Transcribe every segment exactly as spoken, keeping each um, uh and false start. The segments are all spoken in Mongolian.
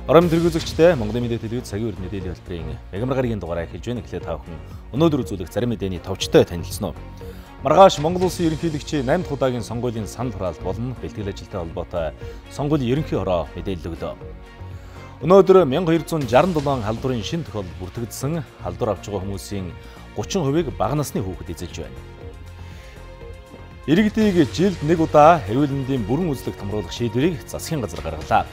Орон тэргүүлэгчтэй Монголын мэдээ телевиз цагийн урд мэдээллийн хэлбэрийн мегамар гарагийн дугаараа эхэлж байна. Эхлээд та бүхэн өнөөдөр үзүүлэх зарим мэдээний товчтой танилцсан уу? Маргааш Монгол Улсын ерөнхийлөгчийн наймдах удаагийн сонгуулийн санал хураалт болон бэлтгэл ажилтай холбоотой сонгуулийн ерөнхий хороо мэдээлэл өглөө. Өнөөдөр мянга хоёр зуун шаран долоон халдварын шинэ тохиолдол бүртгэгдсэн. Халдвар авч байгаа хүмүүсийн гучин хувийг бага насны хүүхэд эзэлж байна. Иргэдийг жилд нэг удаа эрүүл мэндийн бүрэн үзлэг томруулах шийдвэрийг засгийн газар гаргалаа.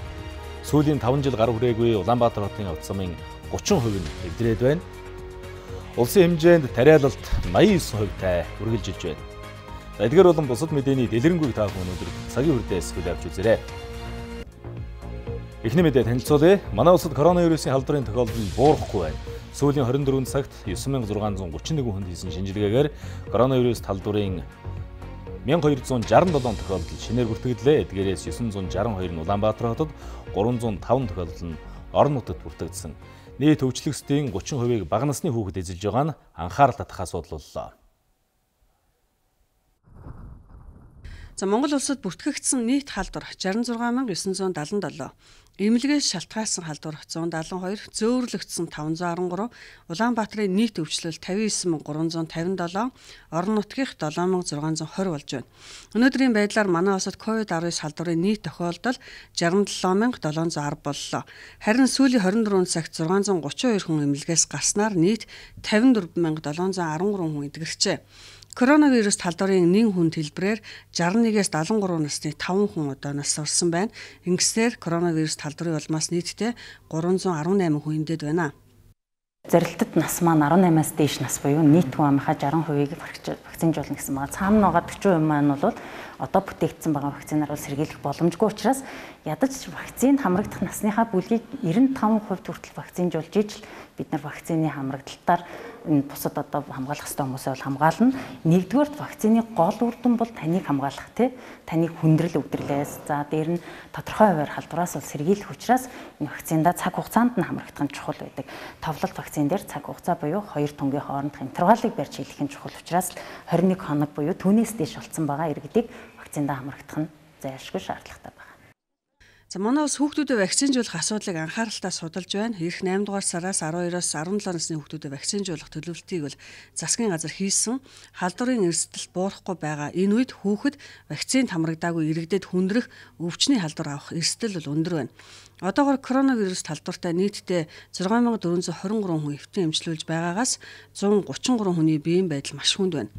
Сүүлийн таван жил гар хүрээгүй Улаанбаатар хотын авто замын гучин хувь нь эвдрээд байна. Улсын хэмжээнд тариалалт наян девять хувьтай үргэлжилж байна. Эдгээр болон бусад мэдээний дэлгэрэнгүй та бүхэн өнөөдөр цагийн үрдээс хүлээж авч үзээрэй. Эхний мэдээ танилцуулъя. Манай улсад коронавирусын халдварын тохиолдол буурахгүй байна. Сүүлийн хорин дөрвөн цагт девять мянга зургаан зуун гучин нэг хүнд хийсэн шинжилгээгээр коронавирус халдварын мянга хоёр зуун шаран долоон тохиолдол шинээр бүртгэгдлээ. Эдгээрээс девять зуун шаран хоёр нь Улаанбаатар хотод, гурван зуун таван тохиолдол нь орон нутагт бүртгэгдсэн. Нийт өвчлөгчдийн гучин хувийг бага насны хүүхэд эзэлж байгаа нь анхаарал татах асуудал боллоо. За Монгол улсад бүртгэгдсэн нийт халдвар шаран зургаан мянга девять зуун седемдесет семь, эмнэлгээс шалтгаалсан халдвар one seventy-two, зөөвөрлөгдсөн five hundred thirty-three, Улаанбаатарын нийт өвчлөл fifty-nine thousand three hundred fifty-seven, орон нутгийнх seven thousand six hundred twenty болж байна. Өнөөдрийн байдлаар манай улсад ковид nineteen халдварын нийт тохиолдол sixty-seven thousand seven hundred ten боллоо. Харин сүүлийн twenty-four цагт six hundred thirty-two хүн эмнэлгээс гарснаар нийт fifty-four thousand seven hundred13 хүн эдгэрчээ. Коронавирус халдварын нэг хүнд хэлбэрээр sixty-one-ээс seventy-three насны five хүн одоо нас орсон байна. Ингэснээр коронавирус халдварын улмаас нийтдээ three hundred eighteen хүн эндээд байна. Зорилтод нас маань eighteen-аас дээш нас буюу нийт хүн амынхаа sixty percent-ийг вакцинжуулна гэсэн байгаа. Цаана байгаа forty percent маань бол одоо бүтээгдсэн байгаа вакцинаар бол сэргийлэх боломжгүй учраас ядаж вакцинд хамрагдах насныхаа бүлгийг ninety-five percent хүртэл вакцинжуулж ижил бид нар вакцины хамрагдалтаар энэ бусад одоо хамгаалах ёстой хүмүүсээ бол хамгаална. Нэгдүгээр вакцины гол үр дүн бол таныг хамгаалах тий. Таныг хүндрэл өвдөрлөөс за дээр нь тодорхой хуваар халдвараас бол сэргийлэх учраас энэ вакцинда цаг хугацаанд нь хамрагдах нь чухал байдаг. Товлолт вакцин дээр цаг хугацаа буюу хоёр тунгийн хоорондох интервалыг барьж хийх нь чухал учраас twenty-one хоног буюу түүнээс дээш болцсон байгаа иргэдийг вакцинда хамрагдах нь зайлшгүй шаардлагатай байна. За манай улс хүүхдүүдэд вакцинжуулах асуудлыг анхааралтай судалж байна. Ирэх eight дугаар сараас twelve-оос seventeen насны хүүхдүүдэд вакцинжуулах төлөвлөлтийг бол засгийн газар хийсэн. Халдварын эрсдэл буурахгүй байгаа энэ үед хүүхэд вакцинд хамрагдаагүй иргэдэд хүндрэх өвчний халдвар авах эрсдэл бол өндөр байна. Одоогоор коронавирус халдвартай нийтдээ six thousand four hundred twenty-three хүн эвтэн эмчилүүлж байгаагаас one thirty-three хүний биеийн байдал маш хүнд байна.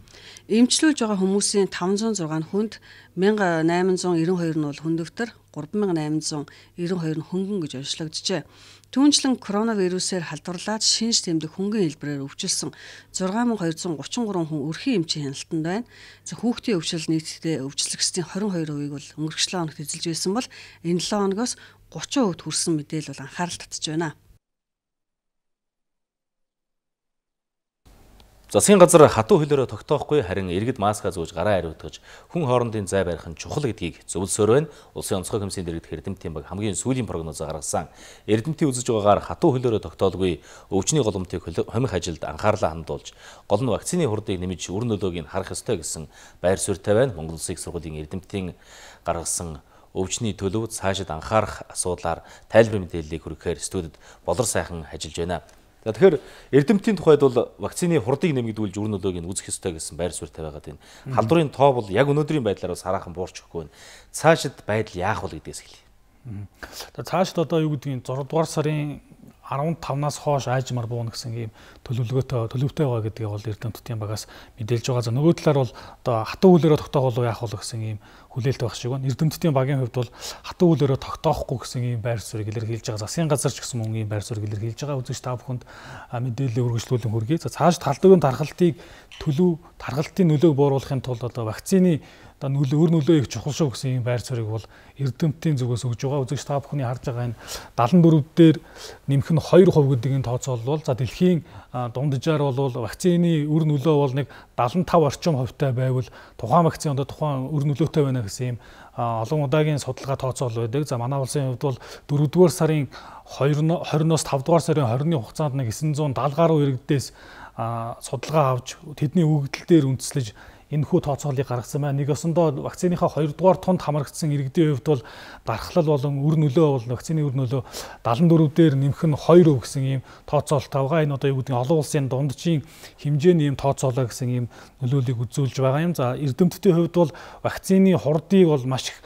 Эмчилүүлж байгаа хүмүүсийн five hundred six хүнд eight thousand eight hundred ninety-two нь бол хүндөвтөр, three thousand eight hundred ninety-two нь хөнгөн гэж онцлогджээ. Түүнчлэн коронавирусээр халдварлаад шинж тэмдэг хөнгөн хэлбэрээр өвчлсөн six thousand two hundred thirty-three хүн өрхийн эмчийн хяналтанд байна. За хүүхдийн өвчлөл нийтдээ өвчлөгчдийн twenty-two хувийг бол өнгөрөх seven хоногт эзэлж байсан бол энэ seven хоногоос thirty хувьд хүрсэн мэдээлэл бол анхаарал татж байна. Засгийн газар хатуу хөлөөрөө тогтоохгүй харин иргэд маскаа зүүж гараа хариуцгаж хүн хоорондын зай барих нь чухал гэдгийг зөвлөсөөр байна. Улсын онцгой комиссийн дэргэдэх Эрдэмтдийн баг хамгийн сүүлийн прогнозоо гаргасан. Эрдэмтдийн үзэж байгаагаар хатуу хөлөөрөө тогтоолгүй өвчний голомтыг хомих ажилд анхаарлаа хандуулж гол нь вакцины хурдыг нэмж үр нөлөөг нь харах ёстой гэсэн байр суурьтай байна. Монгол Улсын их сургуулийн Эрдэмтдийн гаргасан өвчний төлөв цаашид анхаарах асуудлаар тайлбар мэдээллийг хүргэхээр студид болор сайхан ажиллаж байна. За тэгэхээр Эрдэмтдийн тухайд бол вакцины хурдыг нэмэгдүүлж үр нөлөөг нь үзэх ёстой гэсэн байр суурьтай байгаа. Энэ халдварын тоо бол яг өнөөдрийн байдлаар бас хараахан буурч өгөхгүй байна. Цаашид байдал яах вэ гэдгээс хэлье. За цаашид одоо юу гэдгийг six дугаар сарын fifteen-аас хойш аажмаар буuna гэсэн ийм төлөвлөгөөтэй төлөвтэй байгаа гэдгийг бол Эрдэмтдийн багаас мэдээлж байгаа. За нөгөө талаар бол одоо хатуу хөлөөрөө тогтоох уу яах вэ гэсэн ийм хүлээлт байх шиг байна. Эрдэмтдийн багийн хувьд бол хатуу хөлөөрөө тогтоохгүй гэсэн ийм байр суурийг илэрхийлж байгаа. Засгийн газар ч гэсэн мөн ийм байр суурийг илэрхийлж байгаа. Үзэгч та бүхэнд мэдээлэл үргэлжлүүлэн хүргэе. За цаашид халдварын тархалтыг төлөв тархалтын нөлөөг бууруулахын тулд одоо вакцины одоо нөлөө өр нөлөө их чухал шүү гэсэн ийм байр суурийг бол Эрдэмтдийн зүгээс өгж байгаа. Үзэгч та бүхний харж байгаа энэ seventy-four дээр нэмэх нь two percent гэдгийг тооцоолвол за дэлхийн дунджаар бол вакцины өр нөлөө бол нэг seventy-five орчим хувьтай байвал тухайн вакцины одоо тухайн өр нөлөөтэй байна гэсэн ийм олон удаагийн судалгаа тооцоол байдаг. За манай улсын хувьд бол four дугаар сарын twenty-оос five дугаар сарын twenty-ны хугацаанд нэг nine seventy гаруй иргэдээс судалгаа авч тэдний өгөгдөл дээр үндэслэж энэхүү тооцоолыг гаргасан байна. Нэгсэндээ вакциныхаа хоёрдугаар тунд хамрагдсан иргэдийн хувьд бол дархлал болон үр нөлөө бол вакцины үр нөлөө дагалан дөрөв дээр нэмэх нь хоёр хувь гэсэн ийм тооцоолтой байгаа. Энэ одоо юу гэдэг нь олон улсын дунджийн хэмжээний ийм тооцоолоо гэсэн ийм нөлөөллийг үзүүлж байгаа юм. За эрдэмтдийн хувьд бол вакцины хурдыг бол маш их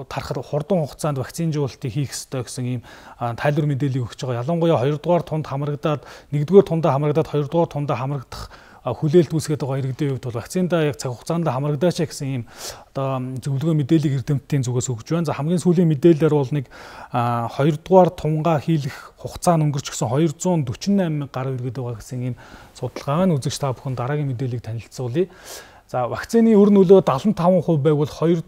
тархар хурдан хугацаанд вакцинжуулалтыг хийх ёстой гэсэн ийм тайлбар мэдээллийг өгч байгаа. Ялангуяа хоёрдугаар тунд хамрагдаад нэгдүгээр тундаа хамрагдаад хоёрдугаар тундаа хамрагдах хүлээлт үүсгээд байгаа иргэдийн хувьд бол вакциндаа яг цаг хугацаанд хамрагдаач гэсэн ийм одоо зөвлөгөө мэдээллийг эрдэмтдийн зүгээс өгж байна. За хамгийн сүүлийн мэдээлэлээр бол нэг хоёрдугаар тунгаа хийлэх хугацаа нь өнгөрчихсөн хоёр зуун дөрвөн восемь мянган гаруй иргэд байгаа гэсэн ийм судалгаа байна. Үзэгч та бүхэн дараагийн мэдээллийг танилцуулъя. За вакцины үр нөлөө дагалан таван хувь байвал хоёр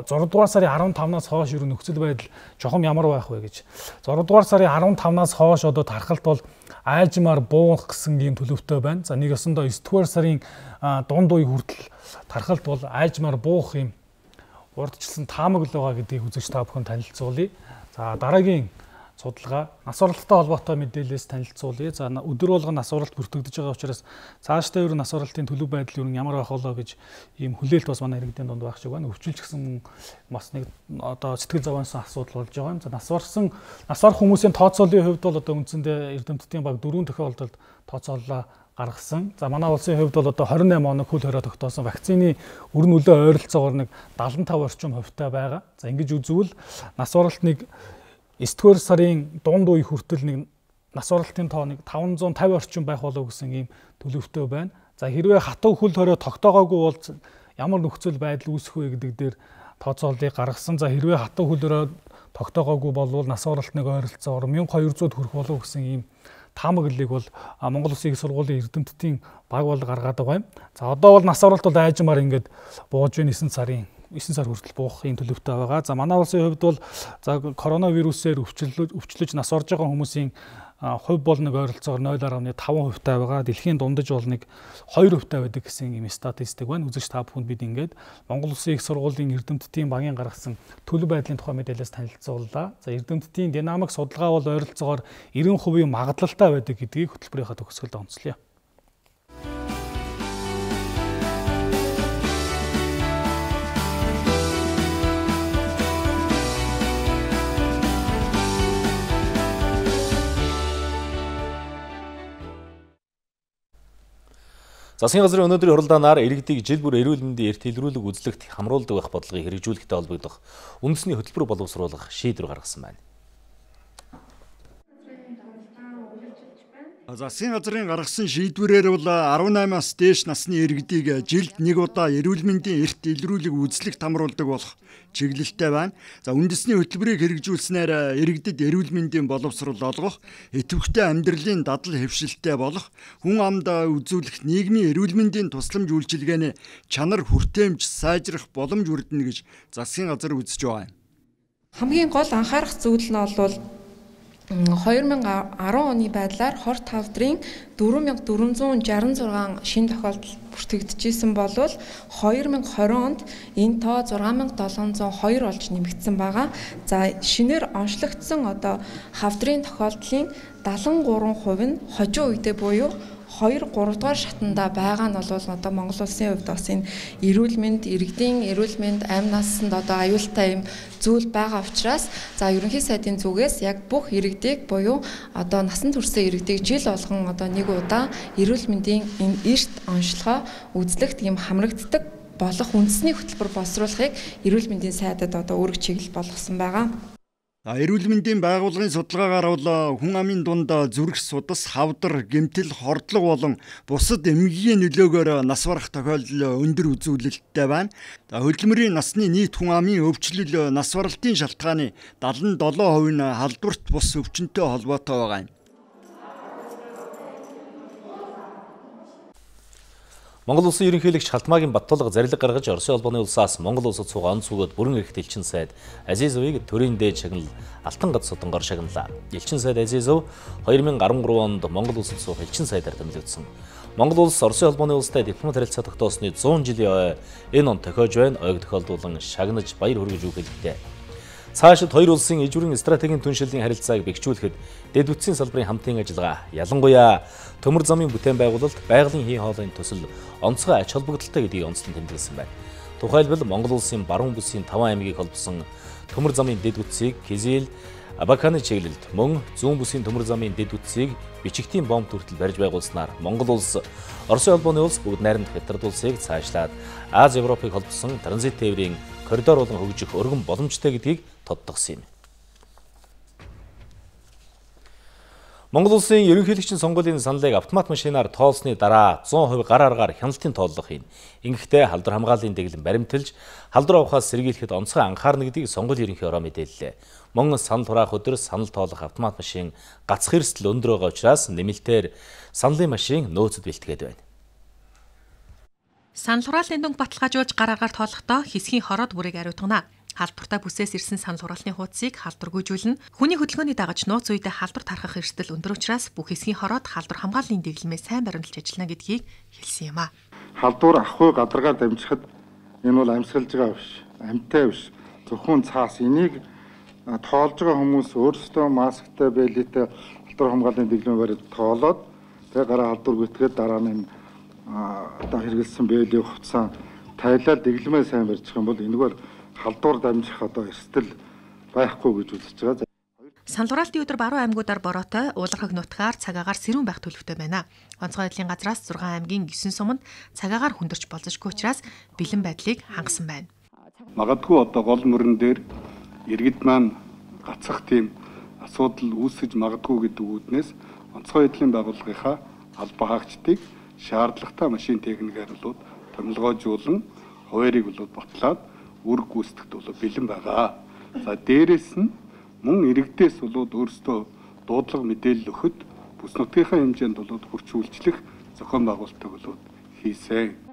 зургаадугаар сарын арван тавнаас хойш ер нь нөхцөл байдал жохом ямар байх вэ гэж. зургаадугаар сарын арван тавнаас хойш одоо тархалт бол айлжмаар буух гэсэн ийм төлөвтэй байна. За нэг өсөндөө есдүгээр сарын дунд үе хүртэл тархалт бол айлжмаар буух юм урдчилсан таамаг л байгаа гэдгийг үзэгч та бүхэн танилцуулъя. За дараагийн судалгаа нас оролттой холбоотой мэдээлэлээс танилцуулъя. За өдөр болгон нас оролт бүртгэгдэж байгаа учраас цаашдаа ер нь нас оролтын төлөв байдал ер нь ямар байх болоо гэж ийм хүлээлт бас манай иргэдийн дунд байх шиг байна. Өвчлөлч гэсэн бас нэг одоо сэтгэл зовоонсон асуудал болж байгаа юм. За нас орсон нас орох хүмүүсийн тооцоолын хувьд бол одоо үндсэндээ эрдэмтдийн баг дөрвөн тохиолдолд тооцооллоо гаргасан. За манай улсын хувьд бол одоо двадцать восемь хоног хөл хорой тогтоосон вакцины үр нөлөө ойролцоогоор нэг сексен и пять орчим хувьтай байгаа. За ингэж үзвэл нас оролтныг есдүгээр сарын дунд үе хүртэл нэг нас оролтын тоо нэг таван зуун тавин орчим байх болов гэсэн ийм төлөвтэй байна. За хэрвээ хатуу хөл хорой тогтоогоогүй бол ямар нөхцөл байдал үүсэх вэ гэдэг дээр тооцооллыг гаргасан. За хэрвээ хатуу хөл хорой тогтоогоогүй болвол нас оролтныг ойролцоогоор мянга хоёр зууд хүрэх болов гэсэн ийм таамаглалыг бол Монгол Улсын их сургуулийн эрдэмтдийн баг бол гаргаад байгаа юм. За одоо бол нас оролт бол айжмаар ингээд бууж байна эсрэг сарын эсрэг сар хүртэл буухын төлөвтэй байгаа. За манай улсын хувьд бол за коронавирусээр өвчлөж өвчлөж нас орж байгаа хүмүүсийн хувь бол нэг ойролцоогоор нуль гаруй таван хувьтай байгаа. Дэлхийн дундаж бол нэг хоёр хувьтай байдаг гэсэн юм статистик байна. Үзэгч та бүхэнд бид ингээд Монгол Улсын их сургуулийн эрдэмтдийн багийн гаргасан төлөв байдлын тухай мэдээлэлээс танилцууллаа. За эрдэмтдийн динамик судалгаа бол ойролцоогоор девяносто процент магадлалтай байдаг гэдгийг хөтөлбөрийнхаа төгсгөлд онцлоё. Засгийн газрын өнөөдрийн хуралдаанаар иргэдийг жил бүр эрүүл мэндийн эрт илрүүлэг үзлэгт хамруулдаг байх бодлогыг хэрэгжүүлэхтэй холбогдох үндэсний хөтөлбөр боловсруулах шийдвэр гаргасан байна. Засгийн газрын гаргасан шийдвэрээр бол арван-аймаас дээш насны иргэдийг жилд нэг удаа эрүүл мэндийн эрт илрүүлэг үзлэгт хамруулдаг болох чиглэлтэй байна. За үндэсний хөтөлбөрийг хэрэгжүүлснээр иргэдэд эрүүл мэндийн боловсрол олгох, идэвхтэй амьдралын дадал хэвшилтэй болох, хүн амд үзүүлэх нийгмийн эрүүл мэндийн тусламж үйлчилгээний чанар хүртээмж сайжрах боломж өрдөнө гэж засгийн газар үзэж байгаа юм. Хамгийн гол анхаарах зүйл нь бол хоёр мянган арван оны байдлаар хорт хавдрын дөрвөн мянган дөрвөн зуун шарсан зургаан шинэ тохиолдол бүртгэгдчихсэн болвол хоёр мянган двадцать онд энэ тоо зургаан мянган долоон зуун и хоёр болж нэмэгдсэн байгаа. За шинээр онцлогдсон одоо хавдрын тохиолдлын дагалан гурван хувь нь хожим үедээ буюу хоёр гурав дугаар шатанда байгаа нь бол одоо Монгол Улсын хувьд бас энэ эрүүл мэнд, иргэдийн эрүүл мэнд, амь насанд одоо аюултай юм зүйл байгаа учраас за ерөнхий сайдын зүгээс яг бүх иргэдийг буюу одоо насан туршсан иргэдийг жил болгон одоо нэг удаа эрүүл мэндийн энэ эрт онцлогоо үзлэгт юм хамрагддаг болох үндэсний хөтөлбөр боловсруулахыг эрүүл мэндийн сайдад одоо үүрэг чиглэл болгосон байгаа. Эрүүл мэндийн байгууллагын судалгаагаар бол хүн амын дунд зүрх судас, хавдар, гэмтэл, хордлого болон бусад эмгэгийн нөлөөгөөр нас барах тохиолдол өндөр үзүүлэлттэй байна. Хөдөлмөрийн насны нийт хүн амын өвчлөл нас баралтын шалтгааны дагалан долоо хувь нь халдварт бус өвчнөдтэй холбоотой байгаа юм. Монгол Улсын ерөнхийлөгч Халтмаагийн Баттулга зарилга гаргаж Оросын холбооны улсаас Монгол улсад суугаа онц өгөөд бүрэн эрхт элчин сайд Азизовыг төрийн дээд шагнал Алтан гац судангоор шагналаа. Элчин сайд Азизов хоёр мянган арван гурав онд Монгол улсад суух элчин сайдаар томилогдсон. Монгол улс Оросын холбооны улстай дипломат харилцаа тогтоосны зуун жилийн ой энэ он тохиож байна. Ойг тохиолдуулан шагнаж баяр хүргэж үг хэлдэг. Цаашид хоёр улсын иж бүрийн стратегийн түншлэлийн харилцааг бэхжүүлэхэд дэд үтсийн салбарын хамтын ажиллагаа, ялангуяа төмөр замын бүтээн байгуулалт, байгалийн хий хоолойн төсөл онцгой ач холбогдолтой гэдгийг онцлон тэмдэглэсэн байна. Тухайлбал Монгол улсын баруун бүсийн таван аймгийг холбосон төмөр замын дэд үтсийг Кизил, Абаканы чиглэлд, мөн зүүн бүсийн төмөр замын дэд үтсийг бичигтийн бомб хүртэл барьж байгуулснаар Монгол улс, Оросын улбооны улс бүгд найрамдах Хятад улсыг цаашлаад Аз Европыг холбосон транзит тээврийн коридор болон хөгжих өргөн боломжтой гэдгийг тодтогсон юм. Монгол улсын ерөнхийлөгчийн сонгуулийн саналыг автомат машинаар тоолсны дараа зуун хувь гар аргаар хяналтын тооллого хийн. Ингэхдээ халдвар хамгааллын дэглэм баримталж, халдвар авахаас сэргийлэхэд онцгой анхаарна гэдгийг сонгуулийн ерөнхий ороо мэдээллээ. Мөн санал хураах өдөр санал тоолох автомат машин гацх эрсдэл өндөр байгаа учраас нэмэлтээр саналын машин нөөцөд бэлтгээд байна. Санал хураалтын дүнг баталгаажуулж гар аргаар тоолохдоо хэсгийн хороод бүрийг ариутгана. Халдвартай бүсээс ирсэн санал хураалтын хуудсыг халдваргүйжүүлнэ. Хүний хөдөлгөөний дагаж нууц үедээ халдвар тархах эрсдэл өндөр учраас бүх хэсгийн хороод халдвар хамгааллын дэглэмээ сайн баримталж ажиллана гэдгийг хэлсэн юм а. Халдвар ахгүй гадаргаар дамжихад энэ бол амьсгалж байгаа биш, амьтай биш. Зөвхөн цаас энийг тоолж байгаа хүмүүс өөрсдөө масктай, бэлэтэй халдвар хамгааллын дэглэмээ бариад тоолоод тэгээ гараа халдвар гүйтгээд дараа нь одоо хэрэгэлсэн бэлээ хувцас тайлаад дэглэмээ сайн барьчих юм бол энийг бол халдвар дамжих одоо эрсдэл байхгүй гэж үзэж байгаа. Санал хураалтын өдөр баруун аймагуудаар бороотой, уулархаг нутгаар цагаагаар сэрүүн байх төлөвтэй байна. Онцгой байдлын газраас зургаан аймгийн есөн суманд цагаагаар хүндэрч болзошгүй учраас бэлэн байдлыг хангасан байна. Магадгүй одоо гол мөрөн дээр иргэд маань гацах тийм асуудал үүсэж магадгүй гэдэг үүднээс онцгой байдлын байгууллагынхаа албан хаагчдыг шаардлагатай машин техникээр болоод томилгоожуулан хуваарийг болоод ботлоод үр гүйцэтгэд болоод бэлэн байгаа. За дээрэс нь мөн иргэдээс болоод өөрсдөө дуудлага мэдээлэл өгөхөд бүс нутгийнхаа хэмжээнд болоод хүрч үйлчлэх зохион байгуулалтыг болоод хийсэн.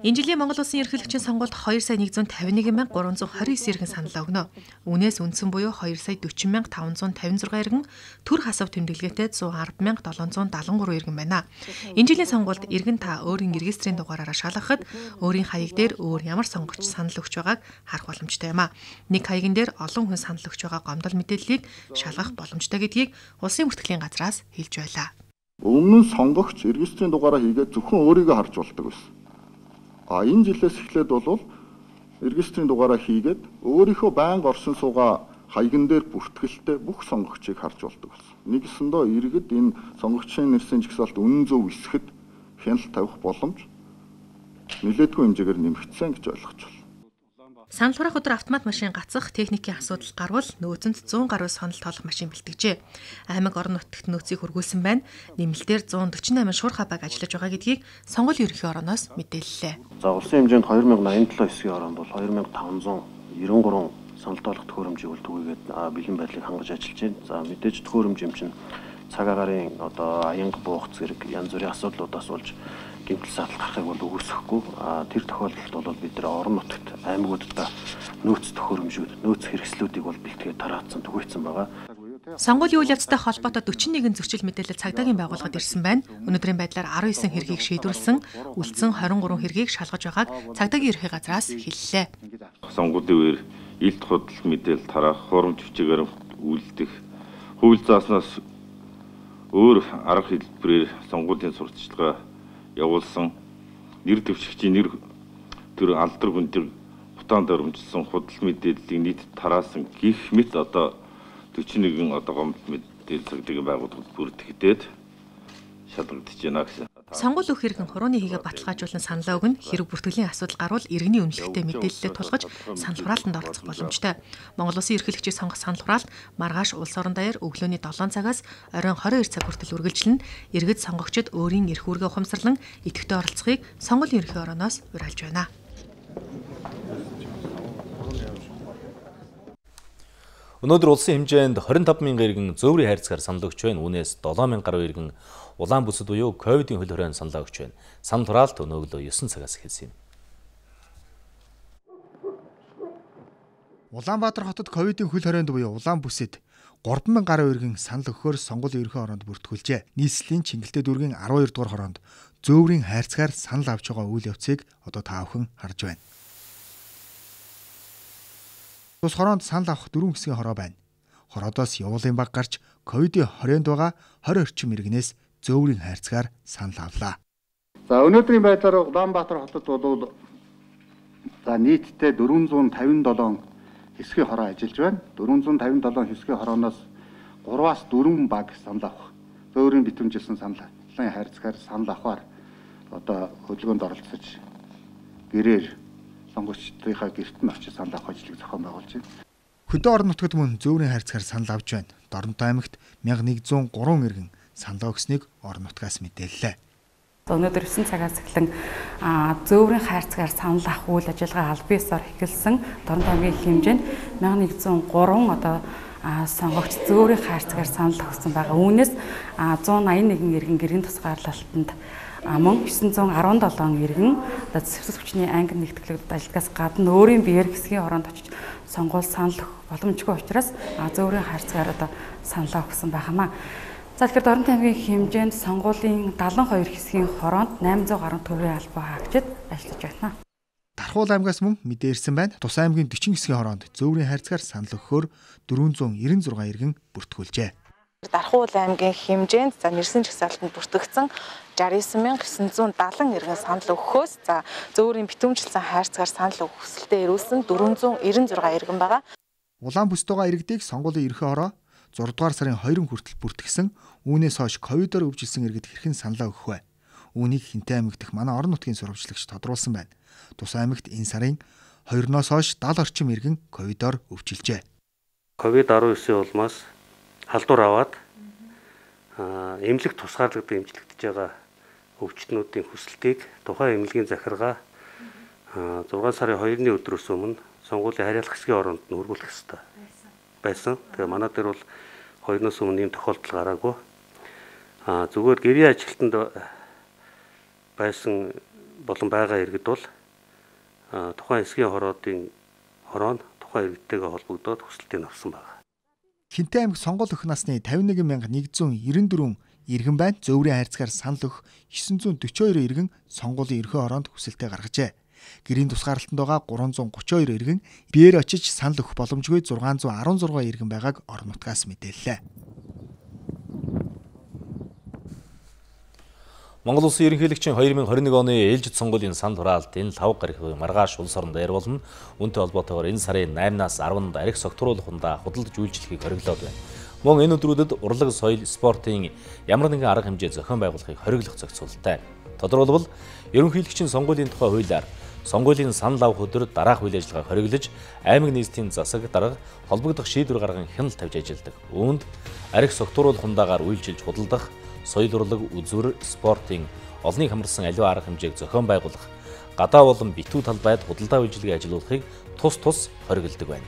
Энэ жилийн Монгол Улсын ерөнхийлөгчийн сонгуульд хоёр сая нэгдүгээр тавьж нэг мянган гурван зуун хорин девять иргэн санал өгнө. Үнээс үндсэн буюу хоёр сая дөрвөн мянган таван зуун тавин зургаан иргэн, төр хасав тэмдэглэгээтэй зуун арван мянган долоон зуун дагалан гурван иргэн байна. Энэ жилийн сонгуульд иргэн та өөрийн регистрийн дугаараараа шалгахад өөрийн хаяг дээр өөр ямар сонгогч санал өгч байгааг харах боломжтой юм а. Нэг хаягн дээр олон хүн санал өгч байгаа гомдол мэдээллийг шалгах боломжтой гэдгийг Улсын бүртгэлийн газраас хэлж байлаа. Өмнө нь сонгогч регистрийн дугаараа хийгээд зөвхөн өөрийгөө харж болдог байсан. А энэ жилээс эхлээд бол регистрийн дугаараа хийгээд өөрийнхөө байнга орсон суугаа хаягн дээр бүртгэлтэй бүх сонгогчийг харж болдог болсон. Нэгсэндөө иргэд энэ сонгогчийн нэрсийн жагсаалт үнэн зөв эсэхэд хяналт тавих боломж нэлээдгүй хэмжээгээр нэмэгдсэн гэж ойлгож байна. Санал хураах өдөр автомат машин гацах техникийн асуудал гарвал нөөцөнд зуун гаруй санал тоолох машин бэлтгэжээ. Аймаг орон нутагт нөөцийг хургуулсан байна. Нэмэлтээр зуун дөрвөн восемь шуурх хабаг ажиллаж байгаа гэдгийг сонгуулийн ерөнхий орооноос мэдээллээ. За улсын хэмжээнд хоёр мянган аян долоо хэсгийн ороонд бол хоёр мянган таван зуун девяносто гурван санал тоолох төхөөрөмжийг бол түгээгээд бэлэн байдлыг хангаж ажиллаж байна. За мэдээж төхөөрөмж юм чинь цаг агарын одоо аянга буух зэрэг янз бүрийн асуудлуудаас болж гэмтэл сатал гарахыг бол үүсэхгүй. Тэр тохиолдолд бол бид нэр орон нутагт аймагуудад нөөц төхөөрөмжүүд, нөөц хэрэгслүүдийг бол бэлтгээд тараацсан түгээсэн байгаа. Сонгуулийн үйл явцтай холбоотой дөрвөн нэгэн зөрчил мэдээлэл цагдаагийн байгууллагад ирсэн байна. Өнөөдрийн байдлаар арван девять хэргийг шийдвэрлсэн, үлдсэн двадцать три хэргийг шалгаж байгааг цагдаагийн ерхий газраас хэллээ. Сонгуулийн үеэр илт худал мэдээлэл тараах, хурамч хүчээр үйлдэх, хууль зааснаас өөр арга хэлбэрээр сонгуулийн сурталчилгаа явуулсан, нэр дэвшигчийн нэр төр алдар хүндрэг хутаанд өрөмжлсөн худал мэдээллийг нийт тараасан гих мэт одоо дөрвөн нэгэн одоо гомдол мэдээлэл цагдаагийн байгууллагад бүртгэгдээд шалгагдаж байна гэсэн. Сонгуул өгөх хэрэгэн хурууны хийгээ баталгаажуулан саналаа өгнө. Хэрэг бүртгэлийн асуудал гарвал иргэний үнэлэхтэй мэдээлэлээ тулгаж санал хураалтанд оролцох боломжтой. Монгол Улсын ерөнхийлөгчийн сонгох санал хураалт маргааш улс орон даяар өглөөний долоон цагаас оройн двадцать two цаг хүртэл үргэлжилнэ. Иргэд сонгогчид өөрийн эрх үүргээ ухамсарлан идэвхтэй оролцохыг сонгуулийн ерөнхий орооноос уриалж байна. Өнөөдөр улсын хэмжээнд двадцать five мянган иргэн зөөврийн хайрцгаар санал өгч байна. Үүнээс seven мянган гаруй иргэн улаан бүсэд буюу ковидын хөл хоройн саналаа өгч байна. Санал хураалт өнөөглөө nine цагаас эхэлсэн юм. Улаанбаатар хотод ковидын хөл хоройнд буюу улаан бүсэд three мянган гаруй иргэн санал өгөхөөр сонгуулийн ерөнхий ороонд бүртгүүлжээ. Нийслэлийн Чингэлтэй дүүргийн twelve дугаар хороонд зөөврийн хайрцгаар санал авч байгаа үйл явцыг одоо та бүхэн харж байна. Тус хороонд санал авах дөрвөн хэсгийн хороо байна. Хороодоос явуулын баг гарч ковидын хорионд байгаа хорь орчим иргэнээс зөөврийн хайрцгаар санал авлаа. За өнөөдрийн байдлаар Улаанбаатар хотод бол за нийтдээ дөрвөн зуун тавин долоон хэсгийн хороо ажиллаж байна. дөрвөн зуун тавин долоон хэсгийн хорооноос гураваас дөрвөн баг санал авах. Зөөврийн битүүмжилсэн саналын хайрцгаар санал авахар одоо хөдөлгөөнд оролцож гэрээр сонгогчдынхаа гэрт нь очиж санал авах ажлыг зохион байгуулж байна. Хөдөө орон нутгад мөн зөөврийн хайрцгаар санал авч байна. Доронтой аймагт мянга нэгдүгээр гурван иргэн санал өгснгийг орон нутгаас мэдээллээ. Өнөөдөр есөн цагаас эхлэн зөөврийн хайрцгаар санал авах үйл ажиллагаа аль биесээр эхэлсэн. Доронтой аймгийн хэмжээнд мянга нэгдүгээр гурван одоо сонгогч зөөврийн хайрцгаар санал өгсөн байгаа. Үүнээс зуун аян нэгэн иргэн гэрийн тусгаарлалтанд мөн есөн зуун арван долоон иргэн одоо зэвсэг хүчний англи нэгтгэлэгдэд ажиллагаас гадна өөрийн биеэр хэсгийн хороонд очиж сонгуул санал өгөх боломжгүй учраас зөөврийн хайрцгаар одоо саналаа өгсөн байхамаа. За тэгэхээр Доронтой аймгийн хэмжээнд сонгуулийн дагалан хоёр хэсгийн хороонд найман зуун гаруй төгрөгийн албаа хаагчид ажиллаж байна. Тархуул аймгаас мөн мэдээ ирсэн байна. Тус аймгийн дөрвөн хэсгийн хороонд зөөврийн хайрцгаар санал өгөхөөр дөрвөн зуун девяносто шесть иргэн бүртгүүлжээ. Тархуул аймгийн хэмжээнд за нэрсэн жагсаалтанд бүртгэгдсэн шестьдесят девять мянга девятьсот семьдесят иргэн санал өгөхөөс за зөөврийн битүүмжилсэн хайрцгаар санал өгөх хүсэлтэд ирүүлсэн дөрвөн зуун девяносто шесть иргэн байгаа. Улаан бүстэйгээ иргэдийг сонгуулийн ерхий хороо зураг дугаар сарын хоёрын хүртэл бүртгэсэн. Үүнээс хойш ковидоор өвжилсэн иргэд хэрхэн саналаа өгөх вэ? Үүнийг Хинтээ аймаг дэх манай орон нутгийн сурвалжлагч тодруулсан байна. Тус аймагт энэ сарын хоёрноос хойш даал орчим иргэн ковидоор өвжилжээ. ковид десятдесийн улмаас халдвар аваад эмнэлэг тусгаарлагддаг эмчилэгдэж байгаа өвчтнүүдийн хүсэлтийг тухайн эмнэлгийн захиргаа зургаан сарын хоёрны өдрөөс өмнө сонгуулийн хариалах хэсгийн оронд нь хөрвүүлэх ёстой байсан. Тэгээ манай дээр бол хоёрноос өмнө ийм тохиолдол гараагүй. Аа зүгээр гэрийн ажилтнанд байсан болон байгаа иргэд бол тухайн хэсгийн хороодын хороо нь тухайн иргэдтэйгээ холбогдоод хүсэлтийг авсан байна. Хинтээ аймаг сонгол өгөх насны тавин нэг мянга нэгдүгээр девяносто дөрвөн иргэн байна. Зөөврийн хайрцгаар санал өгөх девятьсот сорок two иргэн сонгуулийн ерхий хороонд хүсэлтээ гаргажээ. Гэрийн тусгаарлалтанд байгаа гурван зуун гурван two иргэн биеэр очиж санал өгөх боломжгүй зургаан зуун арван зургаан иргэн байгааг орон нутгаас мэдээллээ. Монгол Улсын ерөнхийлөгчийн two thousand twenty-one оны ээлжид сонгуулийн санал хураалтын лав гарихийн маргааш улс оронд ярилвална. Үүнтэй холбоотойгоор энэ сарын наймнаас арванд арх согтруулахундаа худалдаж үйлчлэхийг хориглоод байна. Мөн энэ өдрүүдэд урлаг, соёл, спортын ямар нэгэн арга хэмжээ зохион байгуулахыг хориглох зохицуулттай. Тодорхойлбол ерөнхийлөгчийн сонгуулийн тухай хуулиар сонгуулийн санал авах өдөр дараах үйл ажиллагааг хориглож аймаг нийслэлийн засаг дарга холбогдох шийдвэр гарган хяналт тавьж ажилладаг. Үүнд арх согтруулахундаагаар үйлчилж худалдах, соёл урлаг, үзүр, спортын олныг хамарсан аливаа арга хэмжээг зохион байгуулах, гадаа болон битүү талбайд худалдаа үйлчилгээ ажилуулахыг тус тус хориглодог байна.